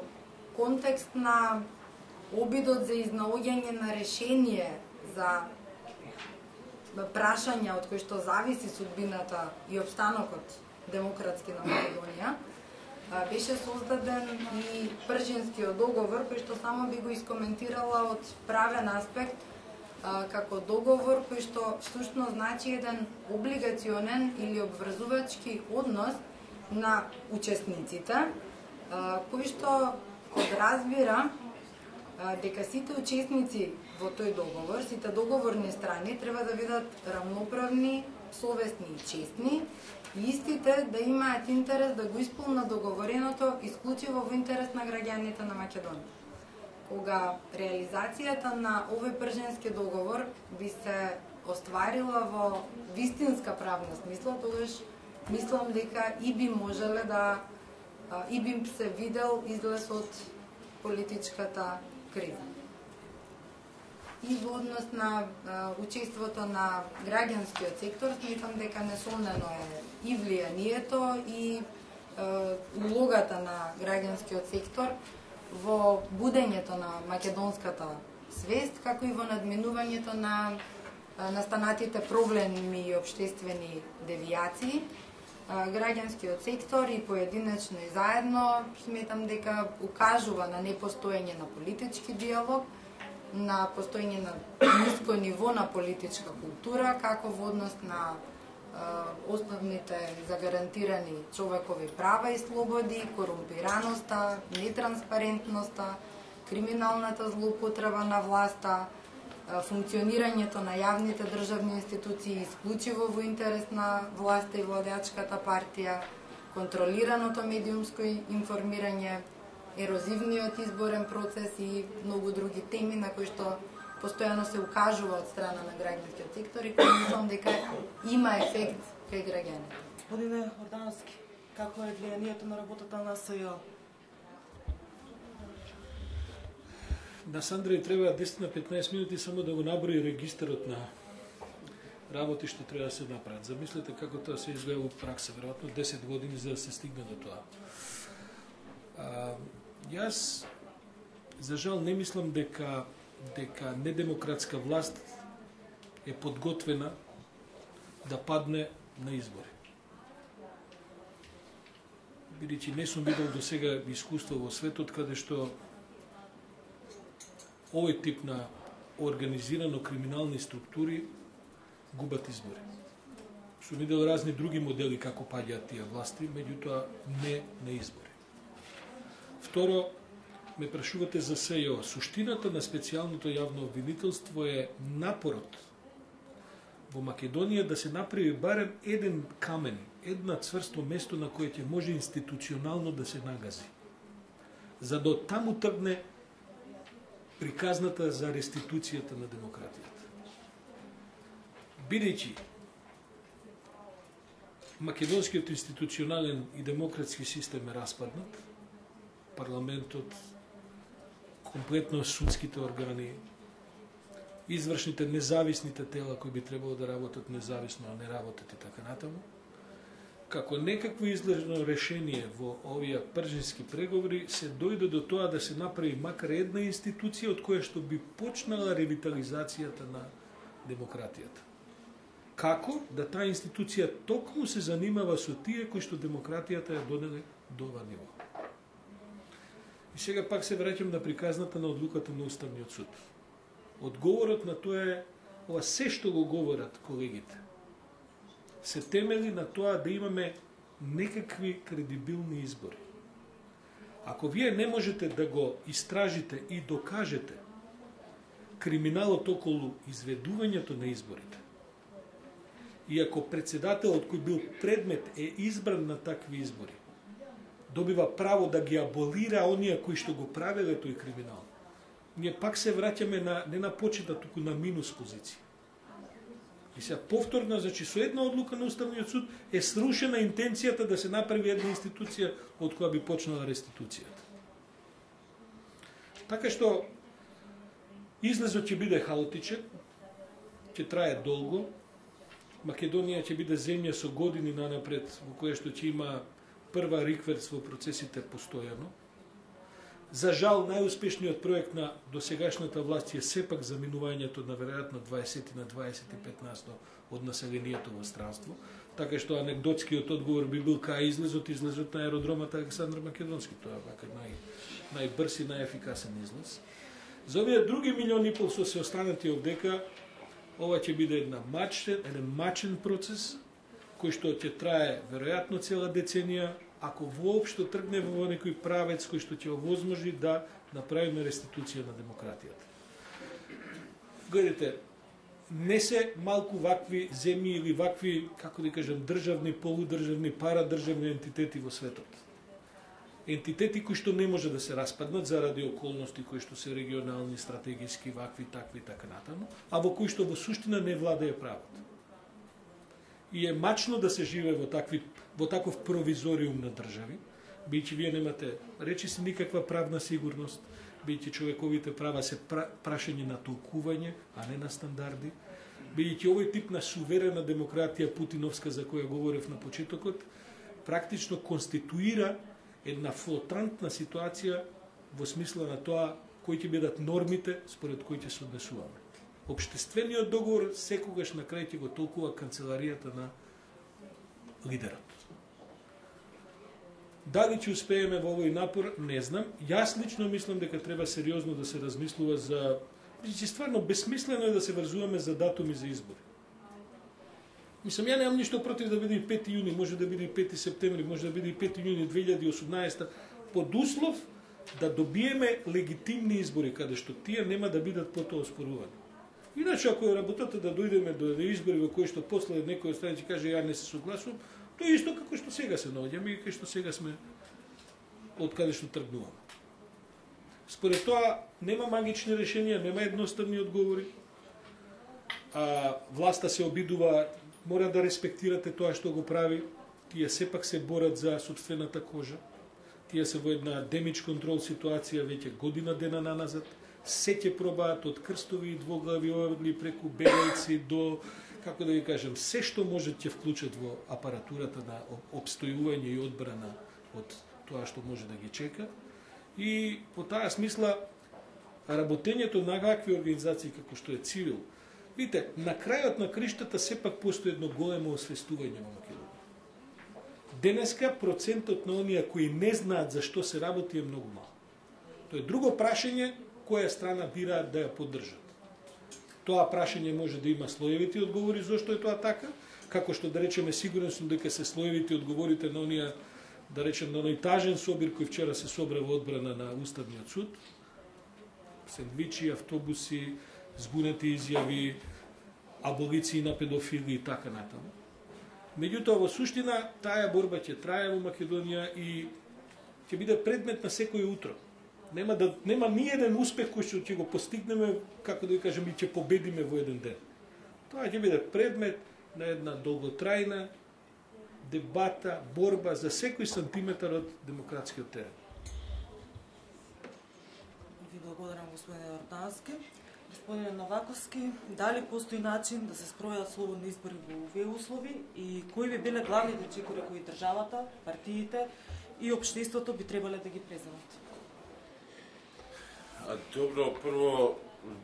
контекст на обидот за изнаоѓање на решение за прашања од кои што зависи судбината и обстанокот демократски на Македонија, беше создаден и Пржинскиот договор, кој што само би го искоментирала од правен аспект, како договор кој што всушност значи еден облигационен или обврзувачки однос на учесниците, кој што подразбира дека сите учесници во тој договор, сите договорни страни треба да бидат рамноправни, совесни и честни, и истите да имаат интерес да го исполнат договореното исклучиво во интерес на граѓаните на Македонија. Кога реализацијата на овој Пржински договор би се остварила во вистинска правна смисла, тогаш мислам дека и би можеле да и би се видел излез од политичката криза. И во однос на учеството на граѓанскиот сектор, сметам дека несомнено е и влијанието и улогата на граѓанскиот сектор во будењето на македонската свест, како и во надминувањето на настанатите проблеми и општествени девијации. Граѓанскиот сектор и поединечно и заедно сметам дека укажува на непостоење на политички диалог, на постоење на ниско ниво на политичка култура, како во однос на основните загарантирани човекови права и слободи, корумпираноста, нетранспарентноста, криминалната злоупотреба на власта, функционирањето на јавните државни институции исклучиво во интерес на власта и владеачката партија, контролираното медиумско информирање, ерозивниот изборен процес и многу други теми на кои што постојано се укажува од страна на граѓанскиот сектор и кои мислам дека има ефект кај граѓаните. Господине Ордановски, како е влијанието на работата на СЈО? На Сандреј треба 10 на 15 минути само да го наброи регистарот на работи што треба да се направат. Замислете како тоа се изгледа во пракса, веројатно 10 години за да се стигне до тоа. Јас за жал не мислам дека недемократска власт е подготвена да падне на избори. Бидејќи не сум видел до сега искуство во светот каде што овој тип на организирано криминални структури губат избори. Сум видел разни други модели како паѓаат тие власти, меѓутоа не на избори. Второ, ме прашувате за СЈО. Суштината на специјалното јавно обвинителство е напорот во Македонија да се направи барем еден камен, една цврсто место на кое ќе може институционално да се нагази. За да таму тргне приказната за реституцијата на демократијата. Бидејќи македонскиот институционален и демократски систем е распаднат, парламентот, комплетно судските органи, извршните независните тела кои би требало да работат независно, а не работат и така натаму, како некакво излежно решение во овие пржински преговори се дојде до тоа да се направи макар една институција од која што би почнала ревитализацијата на демократијата. Како да таа институција токму се занимава со тие кои што демократијата ја донеле до ова ниво. И сега пак се враќам на приказната на одлуката на Уставниот суд. Одговорот на тоа е ова се што го говорат колегите се темели на тоа да имаме некакви кредибилни избори. Ако вие не можете да го истражите и докажете криминалот околу изведувањето на изборите, и ако председателот кој бил предмет е избран на такви избори, добива право да ги аболира оние кои што го правеле тој криминал, ние пак се враќаме не на почетна, туку на минус позиција. И сега повторно, значи со една одлука на Уставниот суд е срушена интенцијата да се направи една институција од која би почнала реституцијата. Така што излезот ќе биде хаотичен, ќе трае долго, Македонија ќе биде земја со години нанапред во која што ќе има прва рикверс во процесите постојано. За жал, најуспешниот проект на досегашната власт е сепак заминувањето на веројатно 20 на 25% од населението во странство, така што анекдотскиот одговор би бил кај излезот на аеродромот Александар Македонски, тоа е вака најбрз и најефикасен излез. За овие други милиони и пол што се останати овдека, ова ќе биде еден мачен процес, кој што ќе трае веројатно цела деценија, ако воопшто тргне во некој правец кој што ќе овозможи да направиме реституција на демократијата. Гледате, не се малку вакви земји или вакви, како да кажем, државни, полудржавни, парадржавни ентитети во светот. Ентитети кои што не може да се распаднат заради околности кои што се регионални, стратегиски, вакви, такви, така натаму, а во кои што во суштина не владее правот. и е мачно да се живее во таков провизориум на држави, бидејќи вие немате речиси никаква правна сигурност, бидејќи човековите права се прашање на толкување, а не на стандарди, бидејќи овој тип на суверена демократија путиновска за која говорев на почетокот, практично конституира една флотантна ситуација во смисла на тоа кои ќе бидат нормите според кои ќе се однесуваме. Општествениот договор секогаш на крај ќе го толкува канцеларијата на лидерот. Дали ќе успееме во овој напор, не знам. Јас лично мислам дека треба сериозно да се размислува за... Че стварно бесмислено е да се врзуваме за датуми за избори. Мислам, ја немам ништо против да биде и 5 јуни, може да биде и 5 септември, може да биде и 5 јуни 2018, под услов да добиеме легитимни избори, каде што тие нема да бидат потоа оспорувани. Иначе, ако е работата да дојдеме до избори во кои што после некој страна ќе каже ја не се согласувам, тоа е исто како што сега се наоѓаме и кај што сега сме од каде што тргнуваме. Според тоа, нема магични решенија, нема едноставни одговори. Власта се обидува, мора да респектирате тоа што го прави. Тие сепак се борат за собствената кожа. Тие се во една демидж контрол ситуација веќе година дена наназад. Се ќе пробаат од крстови и двоглави орли преку бегајци до, како да ви кажем, се што може ќе вклучат во апаратурата на обстојување и одбрана од тоа што може да ги чека. И по таа смисла работењето на какви организации како што е Цивил, видите, на крајот на криштата сепак постои едно големо освестување во Македонија. Денеска процентот на оние кои не знаат за што се работи е многу мал. Тоа е друго прашање која страна бираат да ја поддржат. Тоа прашање може да има слоевити одговори зошто е тоа така, како што да речеме сигурен сум дека се слоевити одговорите на оние, да речем, на оној тажен собир кој вчера се собра во одбрана на Уставниот суд, сендвичи, автобуси, збунети изјави, аболиции на педофили и така натаму. Меѓутоа, во суштина, таа борба ќе трае во Македонија и ќе биде предмет на секој утро. Нема ни еден успех кој што ќе го постигнеме, како да ви кажем, и ќе победиме во еден ден. Тоа ќе биде предмет на една долготрајна дебата, борба за секој сантиметар од демократскиот терен. Ви благодарам, господине Јордански. Господине Новаковски, дали постои начин да се спроведат слободни избори во овие услови и кои би биле главните чекори кои државата, партиите и општеството би требале да ги преземат? Добро, прво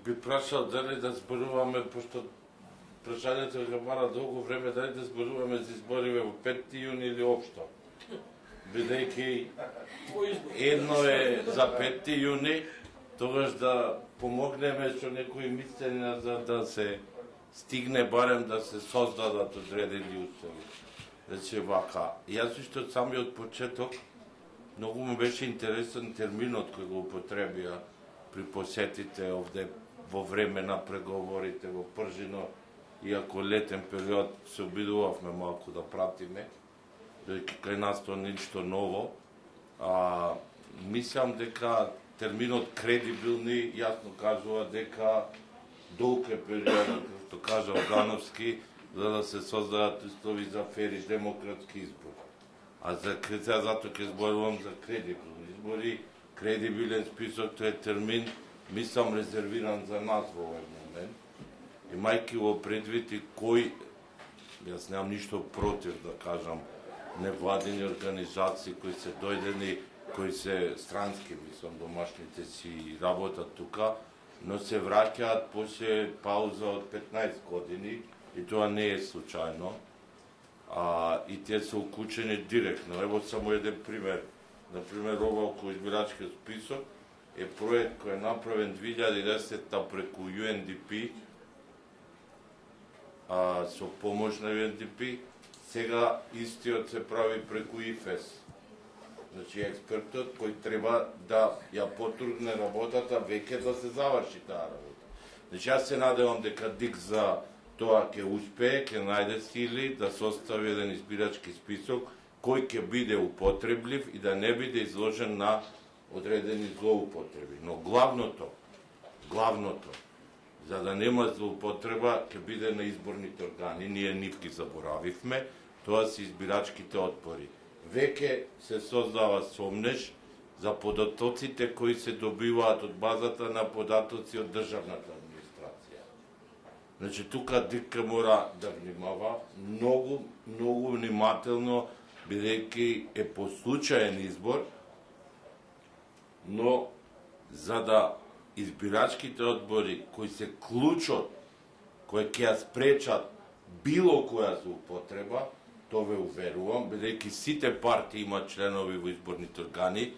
би прашал дали да зборуваме, пошто прашањето ќе бара долго време, дали да зборуваме за избориве во 5 јуни или општо. Бидејќи едно е за 5 јуни, тогаш да помогнеме со некои мислења за да се стигне барем да се создадат одредени услови. Значи вака, јас уште од самиот почеток многу ми беше интересен терминот кој го употребија при посетите овде во време на преговорите во Пржино, иако летен период се обидувавме малку да пратиме, дека кај нас тоа ништо ново, мислам дека терминот кредибилни јасно кажува дека долг е период, што кажа Огановски, за да се создадат услови за фери демократски избори. А за затоа ќе зборувам за кредибилни избори. Кредибилен список, тоа е термин, мислам, резервиран за нас во овој момент. Имајќи во предвид и кој, јас немам ништо против да кажам, невладени организации кои се дојдени, кои се странски, мислам, домашните си работат тука, но се враќаат после пауза од 15 години, и тоа не е случајно, и тие се уклучени директно. Ево само еден пример. Например, ова околу избирачкиот список е проект кој е направен 2010 преку UNDP, со помош на UNDP, сега истиот се прави преку ИФЕС. Значи, експертот кој треба да ја потургне работата, веќе да се заврши таа работа. Значи, јас се надевам дека ДИК за тоа ќе успее, ќе најде сили да состави еден избирачки список кој ќе биде употреблив и да не биде изложен на одредени злоупотреби. Но главното за да нема злоупотреба, ќе биде на изборните органи. Ние нив ги заборавивме, тоа се избирачките одбори. Веќе се создава сомнеж за податоците кои се добиваат од базата на податоци од државната администрација. Значи, тука ДИК мора да внимава многу внимателно, бидејќи е по случаен избор, но за да избирачките одбори кои се клучот, кои ќе ја спречат било која злоупотреба, тоа ве уверувам, бидејќи сите партии имаат членови во изборните органи,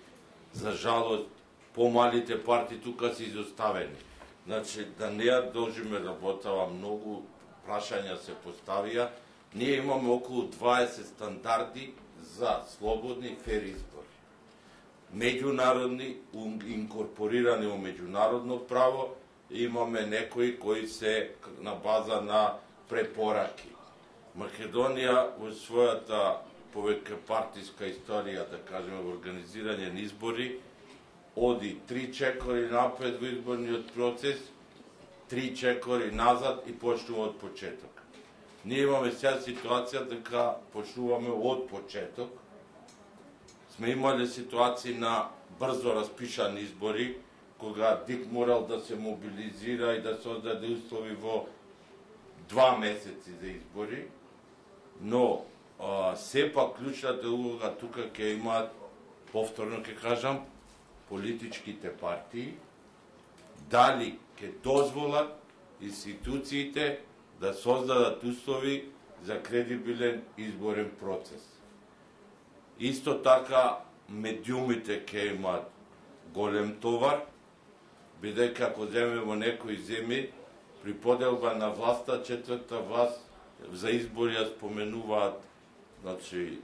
за жалост, помалите партии тука се изоставени. Значи, да не ја должиме работава, многу прашања се поставија. Ние имаме околу 20 стандарди за слободни фер избори. Меѓународни, инкорпорирани во меѓународно право, имаме некои кои се на база на препораки. Македонија во својата повеќе партиска историја, да кажеме, во организирање на избори, оди 3 чекори напред во изборниот процес, 3 чекори назад и почнува од почеток. Ние имаме сега ситуација дека почнуваме од почеток. Сме имале ситуации на брзо распишани избори, кога ДИК морал да се мобилизира и да создаде услови во 2 месеци за избори, но сепак клучната улога тука ќе имаат, повторно ќе кажам, политичките партии, дали ќе дозволат институциите да создадат услови за кредибилен изборен процес. Исто така, медиумите ќе имаат голем товар, бидејќи ако земе во некои земји, при поделба на власта, четврта власт за избори ја споменуваат, значи,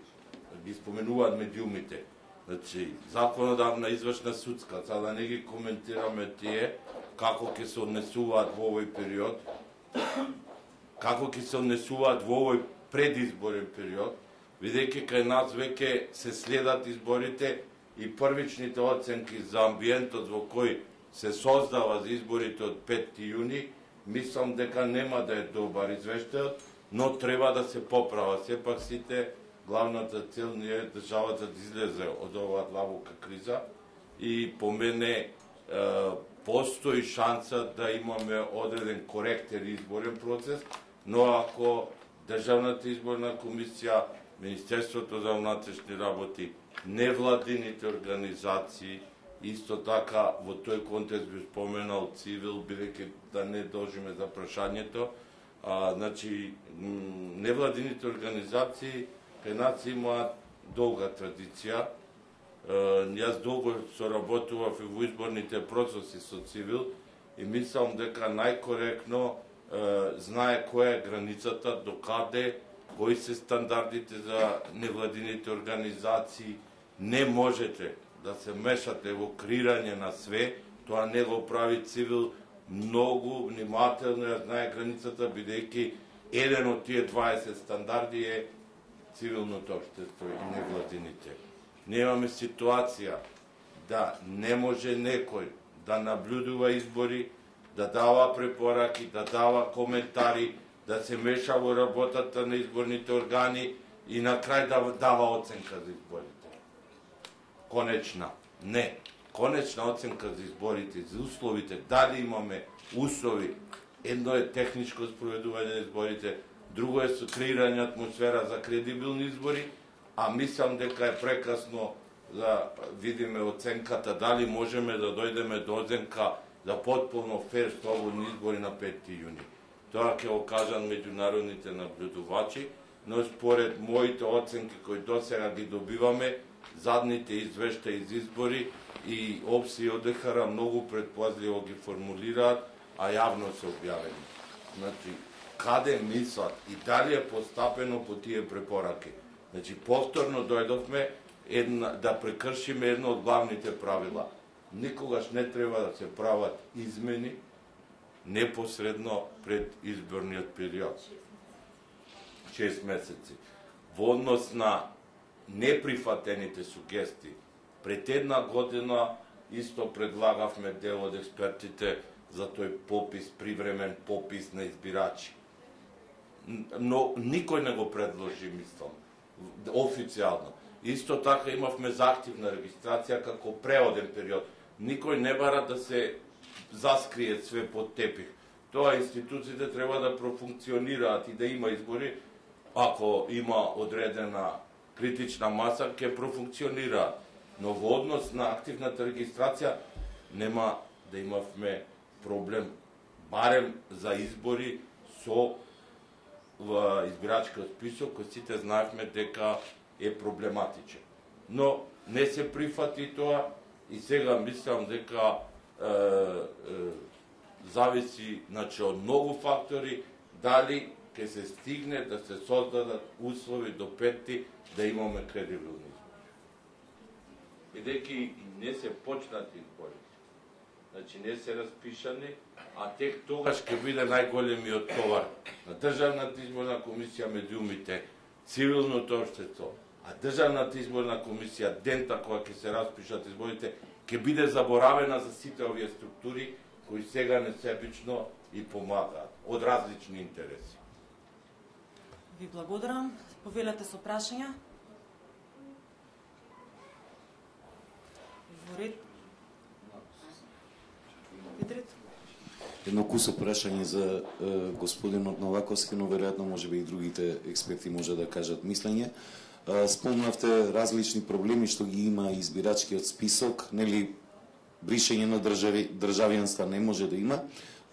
ги споменуваат медиумите. Значи, законодавна, извршна, судска, за да не ги коментираме тие, како ќе се однесуваат во овој период, како ќе се однесуваат во овој предизборен период, бидејќи кај нас веќе се следат изборите и првичните оценки за амбиентот во кој се создава за изборите од 5 јуни, мислам дека нема да е добар извештајот, но треба да се поправа. Сепак сите, главната цел не е државата да излезе од оваа длабока криза и по мене постои шанса да имаме одреден коректен изборен процес, но ако Државната изборна комисија, Министерството за внатрешни работи, невладините организации, исто така во тој контекст би споменал цивил, бидејќи да не должиме за прашањето, значи невладините организации кај нас имаат долга традиција. Јас долго соработував и во изборните процеси со цивил и мислам дека најкоректно знае која е границата, докаде, кои се стандардите за невладините организации. Не можете да се мешате во креирање на све, тоа не го прави цивил, многу внимателно ја знае границата, бидејќи еден од тие 20 стандарди е цивилното општество и невладините. Немаме ситуација да не може некој да наблюдува избори, да дава препораки, да дава коментари, да се меша во работата на изборните органи и на крај да дава оценка за изборите. Конечна. Не. Конечна оценка за изборите, за условите, дали имаме услови. Едно е техничко спроведување на изборите, друго е со креирање атмосфера за кредибилни избори, а мислам дека е прекасно да видиме оценката, дали можеме да дојдеме до оценка за потполно фер слободни избори на 5 јуни. Тоа ќе го кажат меѓународните наблюдувачи, но според моите оценки кои досега ги добиваме, задните извештаи за избори и ОПСИ и ОДХР многу предпазливо ги формулираат, а јавно се објавени. Значи, каде мислат и дали е постапено по тие препораки? Значи, повторно дојдовме да прекршиме едно од главните правила. Никогаш не треба да се прават измени непосредно пред изборниот период. 6 месеци. Во однос на неприфатените сугестии, пред една година исто предлагавме дел од експертите за тој попис, привремен попис на избирачи. Но никој не го предложи, мислам, официјално. Исто така имавме заhtивна регистрација како преоден период. Никој не бара да се заскрие све под тепих. Тоа институциите треба да профункционираат и да има избори. Ако има одредена критична маса, ќе профункционираат. Но во однос на активната регистрација нема да имавме проблем, барем за избори со избирачкиот список, кој сите знаевме дека е проблематичен. Но не се прифати тоа и сега мислам дека зависи, значи, од многу фактори дали ќе се стигне да се создадат услови до петти да имаме кредибилни избори. Бидејќи не се почнати избори, значи не се распишани, а тек тогаш ќе биде најголемиот товар на Државната изборна комисија, медиумите, цивилното општество, а Државната изборна комисија дента кога ќе се распишат изборите ќе биде заборавена за сите овие структури кои сега несебично и помагаат од различни интереси. Ви благодарам. Повелете со прашања. Во ред. Едно кусо прашање за господинот Новаковски, но веројатно можеби и другите експерти може да кажат мислење. Спомнавте различни проблеми што ги има избирачкиот список, нели бришење на државјанства не може да има,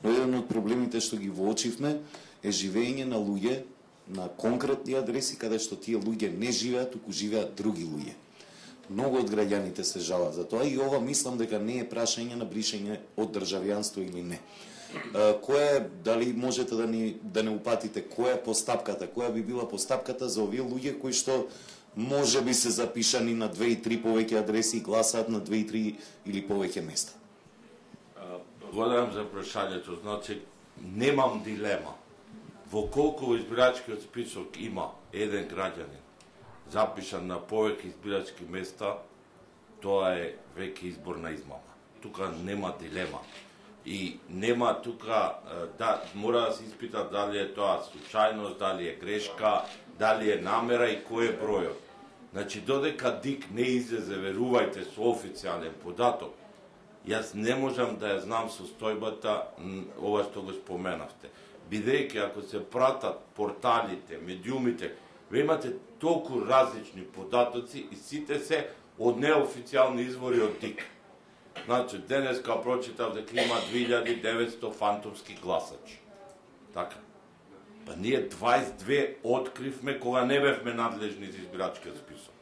но еден од проблемите што ги воочивме е живење на луѓе на конкретни адреси каде што тие луѓе не живеат, туку живеат други луѓе. Многу од граѓаните се жалат за тоа и ова мислам дека не е прашање на бришење од државјанство или не. Која е, дали можете да не упатите, која е постапката, која би била постапката за овие луѓе кои што може би се запишани на 2 и 3 повеќе адреси и гласаат на 2 и 3 или повеќе места? Благодарам за прашањето. Значи, немам дилема. Во колку избирачкиот список има еден граѓанин запишан на повеќе избирачки места, тоа е веќе изборна измама. Тука нема дилема. И нема тука, да, мора да се испита дали е тоа случајност, дали е грешка, дали е намера и кој е бројот. Значи, додека ДИК не излезе, верувајте, со официјален податок, јас не можам да ја знам состојбата ова што го споменавте. Бидејќи ако се пратат порталите, медиумите, ве имате толку различни податоци и сите се од неофицијални извори од ДИК. Значи, денеска прочитав дека има 2900 фантомски гласачи. Така. Па ние 22 откривме кога не бевме надлежни за избирачкиот список.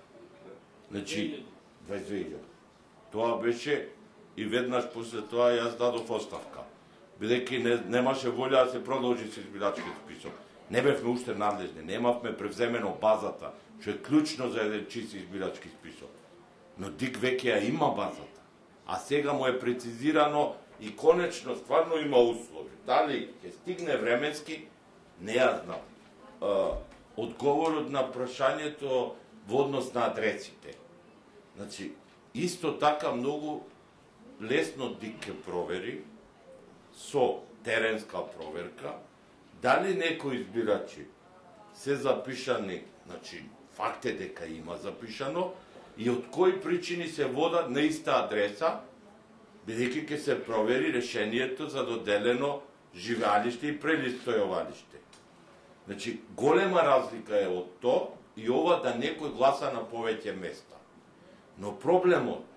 Значи, 22. Тоа беше и веднаш после тоа јас дадов оставка. Бидејќи немаше волја да се продолжи со избирачкиот список. Не бевме уште надлежни, немавме превземено базата, што е клучно за еден чист избирачки список. Но ДИК веќе ја има базата. А сега му е прецизирано и конечно стварно има услови. Дали ќе стигне временски, не ја знам. Одговорот на прашањето во однос на адресите. Значи, исто така многу лесно ДИК ќе провери со теренска проверка дали некои избирачи се запишани, значи факт е дека има запишано, и од кои причини се водат на иста адреса, бидејќи ќе се провери решението за доделено живеалиште и прелистојувалиште. Значи, голема разлика е од тоа и ова да некој гласа на повеќе места. Но проблемот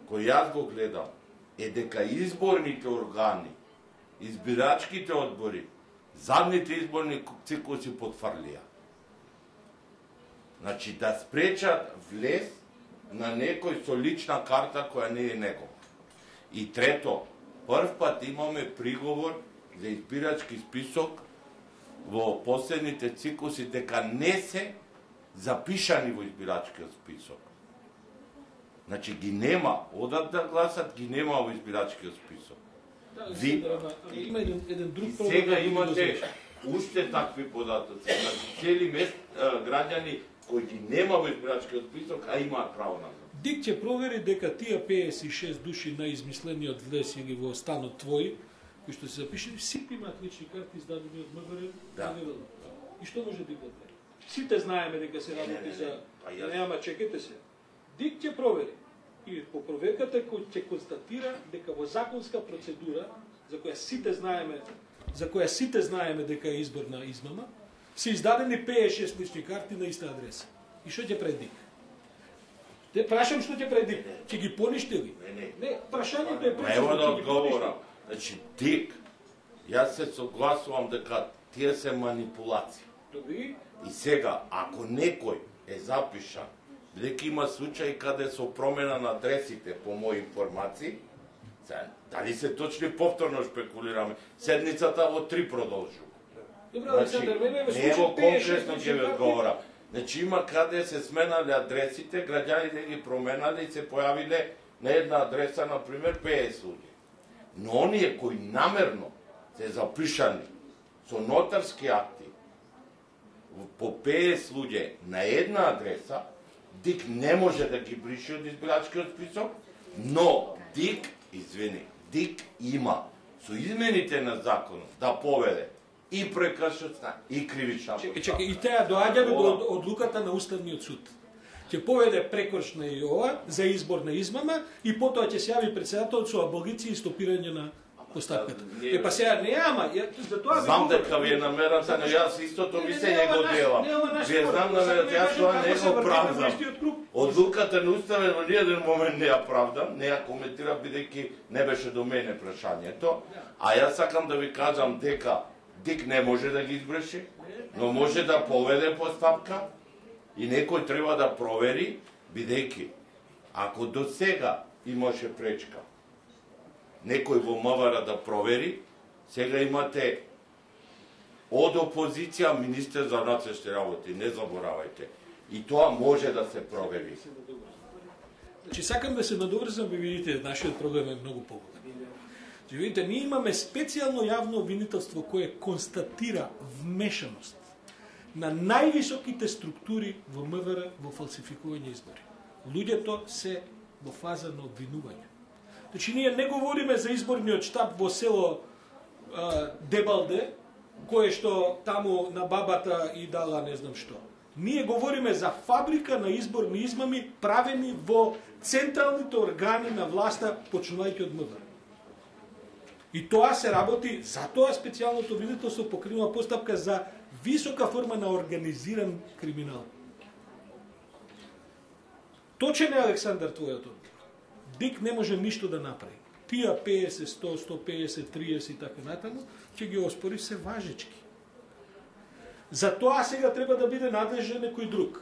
кој јас го гледам е дека изборните органи, избирачките одбори, задните изборни циклуси потврлија. Значи, да спречат влез на некој со лична карта која не е негова. И трето, прв пат имаме приговор за избирачки список во последните циклуси дека не се запишани во избирачкиот список. Значи, ги нема, одат да гласат, ги нема во избирачкиот список. Има еден друг проблем. Сега имате уште такви податоци. Значи, цели граѓани кои ги нема во избирачкиот список, а имаат право на глас. ДИК ќе провери дека тие 56 души на измислениот влез или во станот твој кои што се запишени, сите имаат лични карти издадени од МВР. Да. И што може да бидат? Сите знаеме дека се работи за... Нема, чекайте се. ДИК ќе провери. И по проверката ќе констатира дека во законска процедура, за која сите знаеме дека е изборна измама, се издадени 5-6 лични карти на иста адреса. И што ќе прави ДИК? Те прашам што ќе прави ДИК? Ќе ги поништи ли? Не, прашањето е прашање. Нема да одговорам. Значи, ДИК, јас се согласувам дека тие се манипулации. Добри. И сега, ако некој е запишан, бидејќи има случаи каде со промена на адресите по мои информации, дали се точни повторно шпекулираме, седницата во 3 продолжува. Добро, Александр, мене ме случаи конкретно ќе ви карти. одговорам. Значи има каде се сменале адресите, граѓаните ги променале и се појавиле на една адреса, например, 50 луѓе. Но оние кои намерно се запишани со нотарски акти по 50 луѓе на една адреса, ДИК не може да ги брише од избирачкиот список, но ДИК има со измените на законот да поведе и прекршоцна и кривична постапка. Чекај, и теа доаѓаме до одлуката на Уставниот суд. Ќе поведе прекршна и ова за изборна измама и потоа ќе се јави председателот со аболиција и стопирање на постапката. Па сега не ама, за тоа знам дека ви е намерата, но јас истото мислење го делам. Вие знам намерата, јас тоа не го правдам. Одлуката на Уставен во ниеден момент не ја правдам, не ја коментирам бидејќи не беше до мене прашањето, а јас сакам да ви кажам дека ДИК не може да ги избрши, но може да поведе постапка и некој треба да провери, бидејќи ако до сега имаше пречка некој во МВР да провери, сега имате од опозиција министер за внатрешни работи, не заборавајте. И тоа може да се провери. Значи сакам да се надоврзам, ви видите, нашиот проблем е многу поголем. Значи видите, ние имаме специјално јавно обвинителство кое констатира вмешаност на највисоките структури во МВР во фалсификување избори. Луѓето се во фаза на обвинување. Значи, ние не говориме за изборниот штаб во село Дебалде, кое што таму на бабата и дала не знам што. Ние говориме за фабрика на изборни измами правени во централните органи на власта, почнувајќи од МВР. И тоа се работи, затоа специјалното обвинителство покренува постапка за висока форма на организиран криминал. Точен е, Александар, твојот одговор. ДИК не може ништо да направи. Тија 50, 100, 150, 30 и така натаму, ќе ги оспори се важечки. За тоа сега треба да биде надлежен некој друг.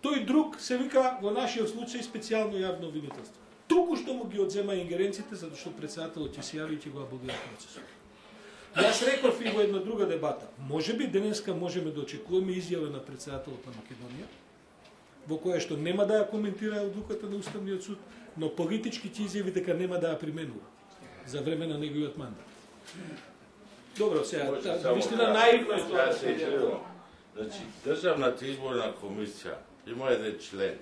Тој друг се вика во нашиот случај специјално јавно обвинителство. Туку што му ги одзема ингеренциите, затоа што председателот ќе се јави и ќе го аболира процесот. Јас реков и во една друга дебата. Можеби денеска можеме да очекуваме изјава на председателот на Македонија, во која што нема да ја коментира одлуката на Уставниот суд, но политички ќе изјави дека нема да ја применува за време на неговиот мандат. Добро, сега, вистина наивно е тоа. Значи, Државната изборна комисија има еден член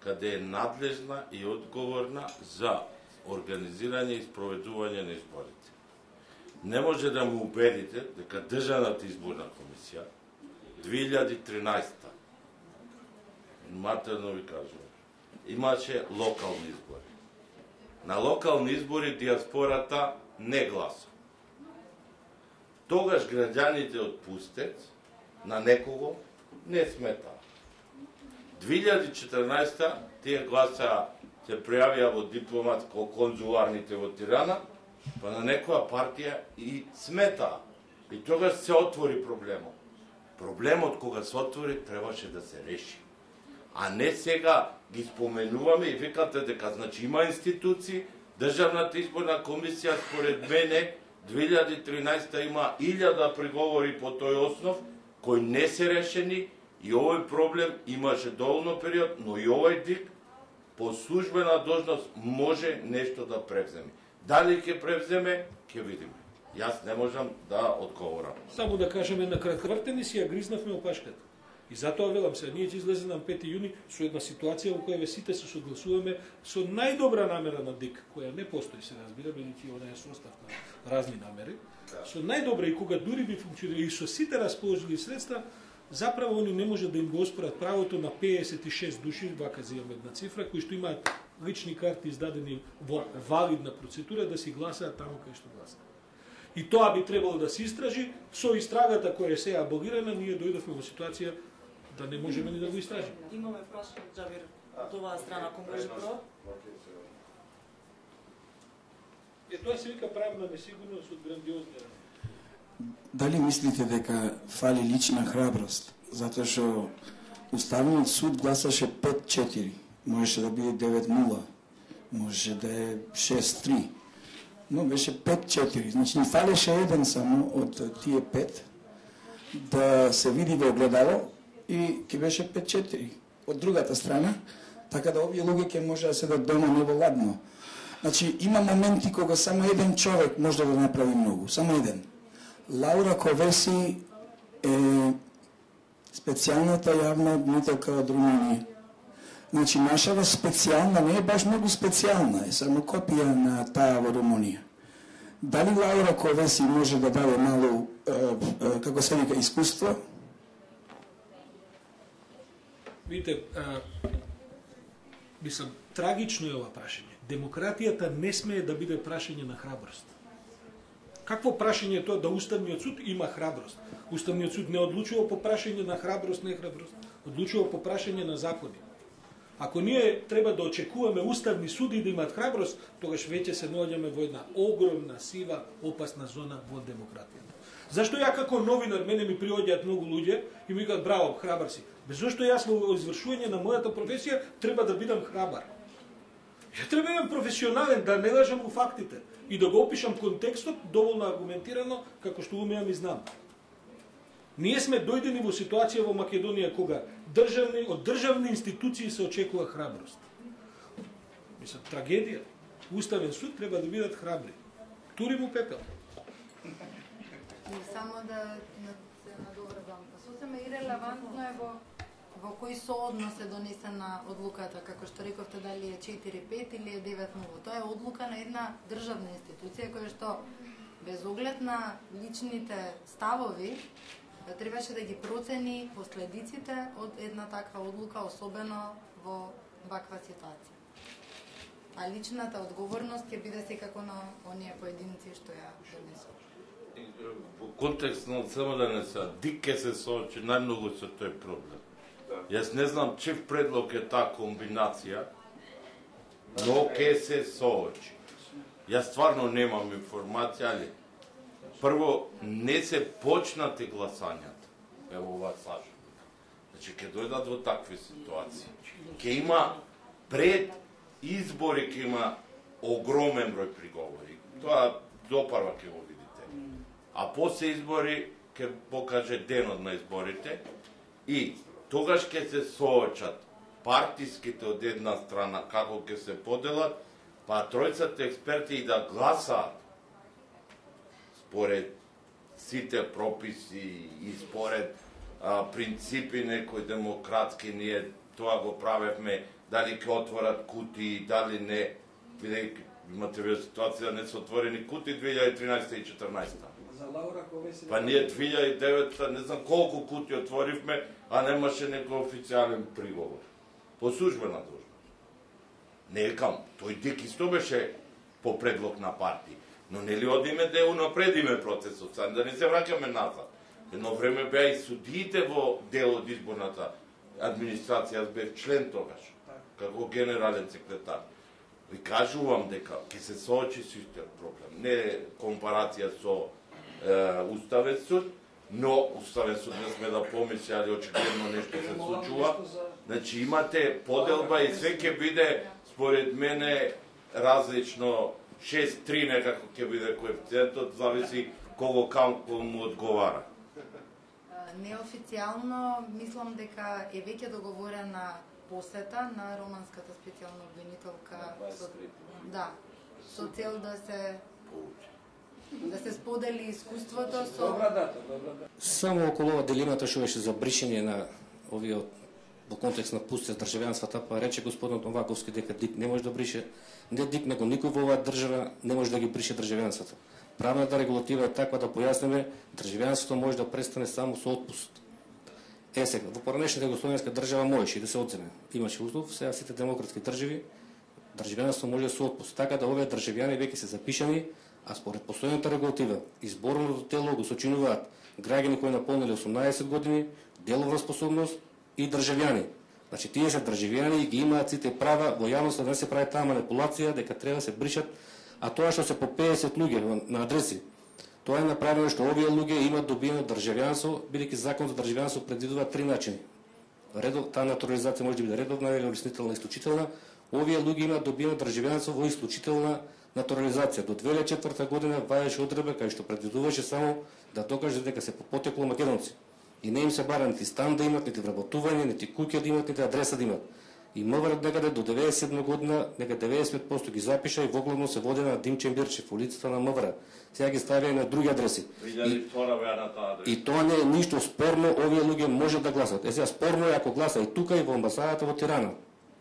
каде е надлежна и одговорна за организирање и спроведување на изборите. Не може да му убедите дека Државната изборна комисија 2013 матерно ви кажувам, имаше локални избори. На локални избори диаспората не гласа. Тогаш граѓаните од Пустец на некого не сметаа. 2014 тие гласа се пријавија во дипломатско-конзуларните во Тирана, па на некоја партија и сметаа. И тогаш се отвори проблемот. Проблемот кога се отвори требаше да се реши. А не сега ги споменуваме и викате дека значи има институции, Државната изборна комисија според мене 2013 има 1000 приговори по тој основ кои не се решени и овој проблем имаше доволно период, но и овој ДИК по службена должност може нешто да превземе. Дали ќе превземе, ќе видиме. Јас не можам да одговорам. Само да кажеме на кратко, вртени си ја гризнавме опашката. И затоа велам се, ние ќе излезе на 5 јуни со една ситуација во која сите се согласуваме со најдобра намера на ДИК, која не постои, се разбира, бидејќи она е состав на разни намери. Со најдобра и кога дури би функционира и со сите расположени средства, заправо они не може да им го оспорат правото на 56 души, вака земаме една цифра, кои што имаат лични карти издадени во валидна процедура да си гласаат таму кај што гласаат. И тоа би требало да се истражи. Со истрагата која е сега аболирана, ние дојдовме во ситуација да не можеме ни да го истражиме. Имаме прашање, Џабир, од оваа страна, ако може прво. Тоа се вика правна несигурност од грандиозни рани. Дали мислите дека фали лична храброст? Затоа што Уставниот суд гласаше 5-4, можеше да биде 9-0, можеше да е 6-3, но беше 5-4. Значи, ни фалеше еден само од тие 5 да се види во огледало и ќе беше 5-4 од другата страна, така да овие луѓе ќе може да седат дома неволадно. Значи, има моменти кога само еден човек може да направи многу, само еден. Лаура Ковеси е специјалната јавна обвинителка од Румунија. Значи, нашава специјална не е баш многу специјална, е само копија на таа во Румунија. Дали Лаура Ковеси може да даде мало, како се вика, искуство? Видите, мислам, трагично е ова прашање. Демократијата не смее да биде прашање на храброст. Какво прашање е тоа да Уставниот суд има храброст? Уставниот суд не одлучува по прашање на храброст, не храброст. Одлучува по прашање на закони. Ако ние треба да очекуваме уставни суди да имаат храброст, тогаш веќе се наоѓаме во една огромна, сива, опасна зона во демократијата. Зашто ја како новинар мене ми приоѓаат многу луѓе и ми кажат браво, храбар си. Без зашто јас во извршување на мојата професија треба да бидам храбар. Ја треба да бидам професионален, да не лажам у фактите и да го опишам контекстот доволно аргументирано како што умеам и знам. Ние сме дојдени во ситуација во Македонија кога од државни институции се очекува храброст. Мислам, трагедија. Уставен суд треба да бидат храбри. Тури му пепел. Само да се надоврзам. Сосем ирелевантно е во кој сооднос е донесена одлуката, како што рековте, дали е 4-5 или е 9-0. Тоа е одлука на една државна институција која што без оглед на личните ставови требаше да ги процени последиците од една таква одлука, особено во ваква ситуација. А личната одговорност ќе биде секако на оние поединци што ја донесува. Во контекст на само да не се ДИК ке се соочи најмногу со тој проблем. Јас не знам чив предлог е таа комбинација, но ке се соочи. Јас стварно немам информација, али прво не се почнати гласањата. Ево ова слажам. Значи ке дојдат во такви ситуации. Ке има пред избори, ке има огромен број приговори. Тоа допарва ке го видите. А после избори ке покаже денот на изборите и тогаш ке се соочат партиските од една страна како ке се поделат, па тројцата експерти и да гласаат според сите прописи и според принципи некои демократски, ние тоа го правевме, дали ќе отворат кутии, дали не, бидејќи имате вие ситуација да не се отворени кутии 2013 и 2014. Па ние 2009 не знам колку кути отворивме, а немаше некој официјален приговор. По службена должност. Не екам, тој ДИК исто беше по предлог на партии. Но нели одиме да унапредиме процесот, да не се враќаме назад. Едно време беа и судиите во дел од изборната администрација, јас бев член тогаш, како генерален секретар. Ви кажувам дека ќе се соочи со истиот проблем. Не компарација со Уставен суд, но Уставен суд не сме да помисли, али очигледно нешто се случува. Значи имате поделба и све ќе биде, според мене, различно 6-3 некако ќе биде коефициентот, зависи кого камко му одговара. Неофицијално мислам дека е веќе договорена посета на романската специјална обвинителка со цел да се сподели искуството со... Само околу ова дилемата што беше за бришење овие во контекст на пустест државјанствата, па рече господинот Новаковски дека ДИК не може да брише, не ДИК, него никој во оваа држава не може да ги брише државјанството. Правната регулатива е таква да појасниме, државјанството може да престане само со отпуст. Сега, во поранешната југословенска држава можеше да се одземе. Имаше услов, сега сите демократски држави, државјанство може со отпуст. Така да овие државјани веќе се запишани, а според постојаната регулатива, изборното тело го сочинуваат граѓани кои наполнили 18 години, деловна способност и државјани. Значи, тие се државјани и ги имаат сите права, во јавноста да не се прави таа манипулација, дека треба да се бришат, а тоа што се по 50 луѓе на адреси, тоа е направено што овие луѓе имаат добиено државјанство, бидејќи закон за државјанство предвидува 3 начини. Таа натурализација може да биде редовна или улеснителна и исклучителна. Овие луѓе имаат добиено државјанство во исклучителна натурализација. До 2004 година ваеше одредба кај што предвидуваше само да докаже дека се по потекло македонци. И не им се бара нити стан да имат, нити вработување, нити куќа да имат, нити адреса да имат. И МВР некаде до 97 година, нека 95% ги запиша и воглавно се води на Димче Мирчев, улицата на МВР. Сега ги ставија на други адреси. И тоа не е ништо спорно, овие луѓе може да гласат. Сега спорно е ако гласа и тука и во амбасадата во Тирана.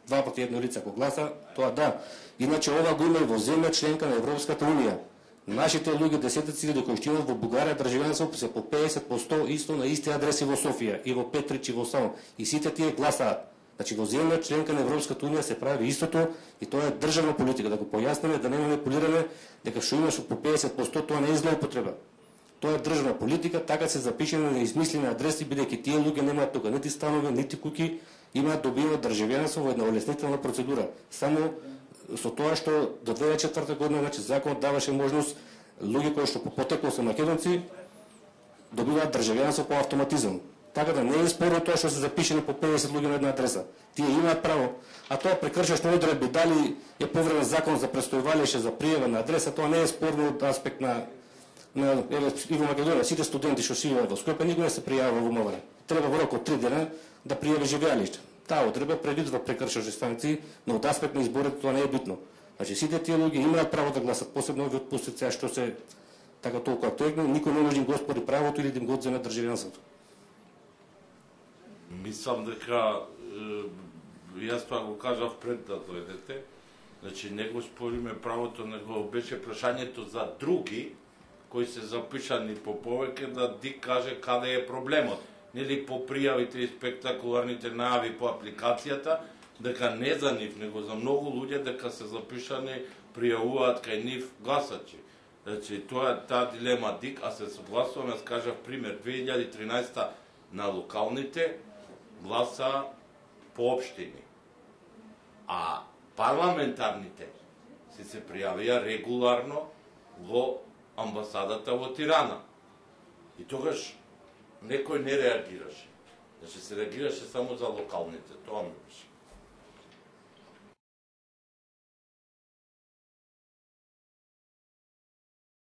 2 пати едно лице ако гласа, тоа да. Иначе ова го има и во земја членка на Европската унија. Нашите луѓе, десетици луѓе кои што имаат во Бугарија државјанство се по 50% исто на исти адреси во Софија и во Петрич и во Самон. И сите тие гласаат. Значи во земја членка на Европската унија се прави истото и тоа е државна политика, да го појасниме, да не манипулираме дека што имаш по 50% тоа не е злоупотреба. Тоа е државна политика, така се запишени на измислени адреси, бидејќи тие луѓе немаат тука нити станови, нити куќи, имаат добиено државјанство во една улеснителна процедура. Само со тоа што до 2004 година, значи законот даваше можност луѓе кои што по потекло се македонци добиваат државјанство по автоматизам. Така да не е спорно тоа што се запишени по 50 луѓе на една адреса. Тие имаат право, а тоа прекршуваш одредби, дали е повреден закон за престојувалище за пријава на адреса, тоа не е спорно од аспект на и во Македонија, сите студенти што живеат во Скопје никој не се пријавува во МВР. Треба во рок од 3 дена да пријави живеалиште. Таа одредба предвидува прекршуваш станици, но од аспект на изборите тоа не е битно. Значи сите тие луѓе имаат право да гласат, посебно овие отпустици што се така толку актуелни, никој не може да им го оспори правото или да им го одземе државјанството. Мислам дека јас тоа го кажав пред да дојдете. Значи не го спориме правото, него беше прашањето за други кои се запишани по повеќе да ДИК каже каде е проблемот. Нели по пријавите и спектакуларните најави по апликацијата, дека не за нив, него за многу луѓе дека се запишани, пријавуваат кај нив гласачи. Значи тоа е таа дилема ДИК, а се согласувам, јас кажав пример 2013 на локалните гласа по општини. А парламентарните се пријавија регуларно во амбасадата во Тирана. И тогаш некој не реагираше. Значи се реагираше само за локалните, тоа ми беше.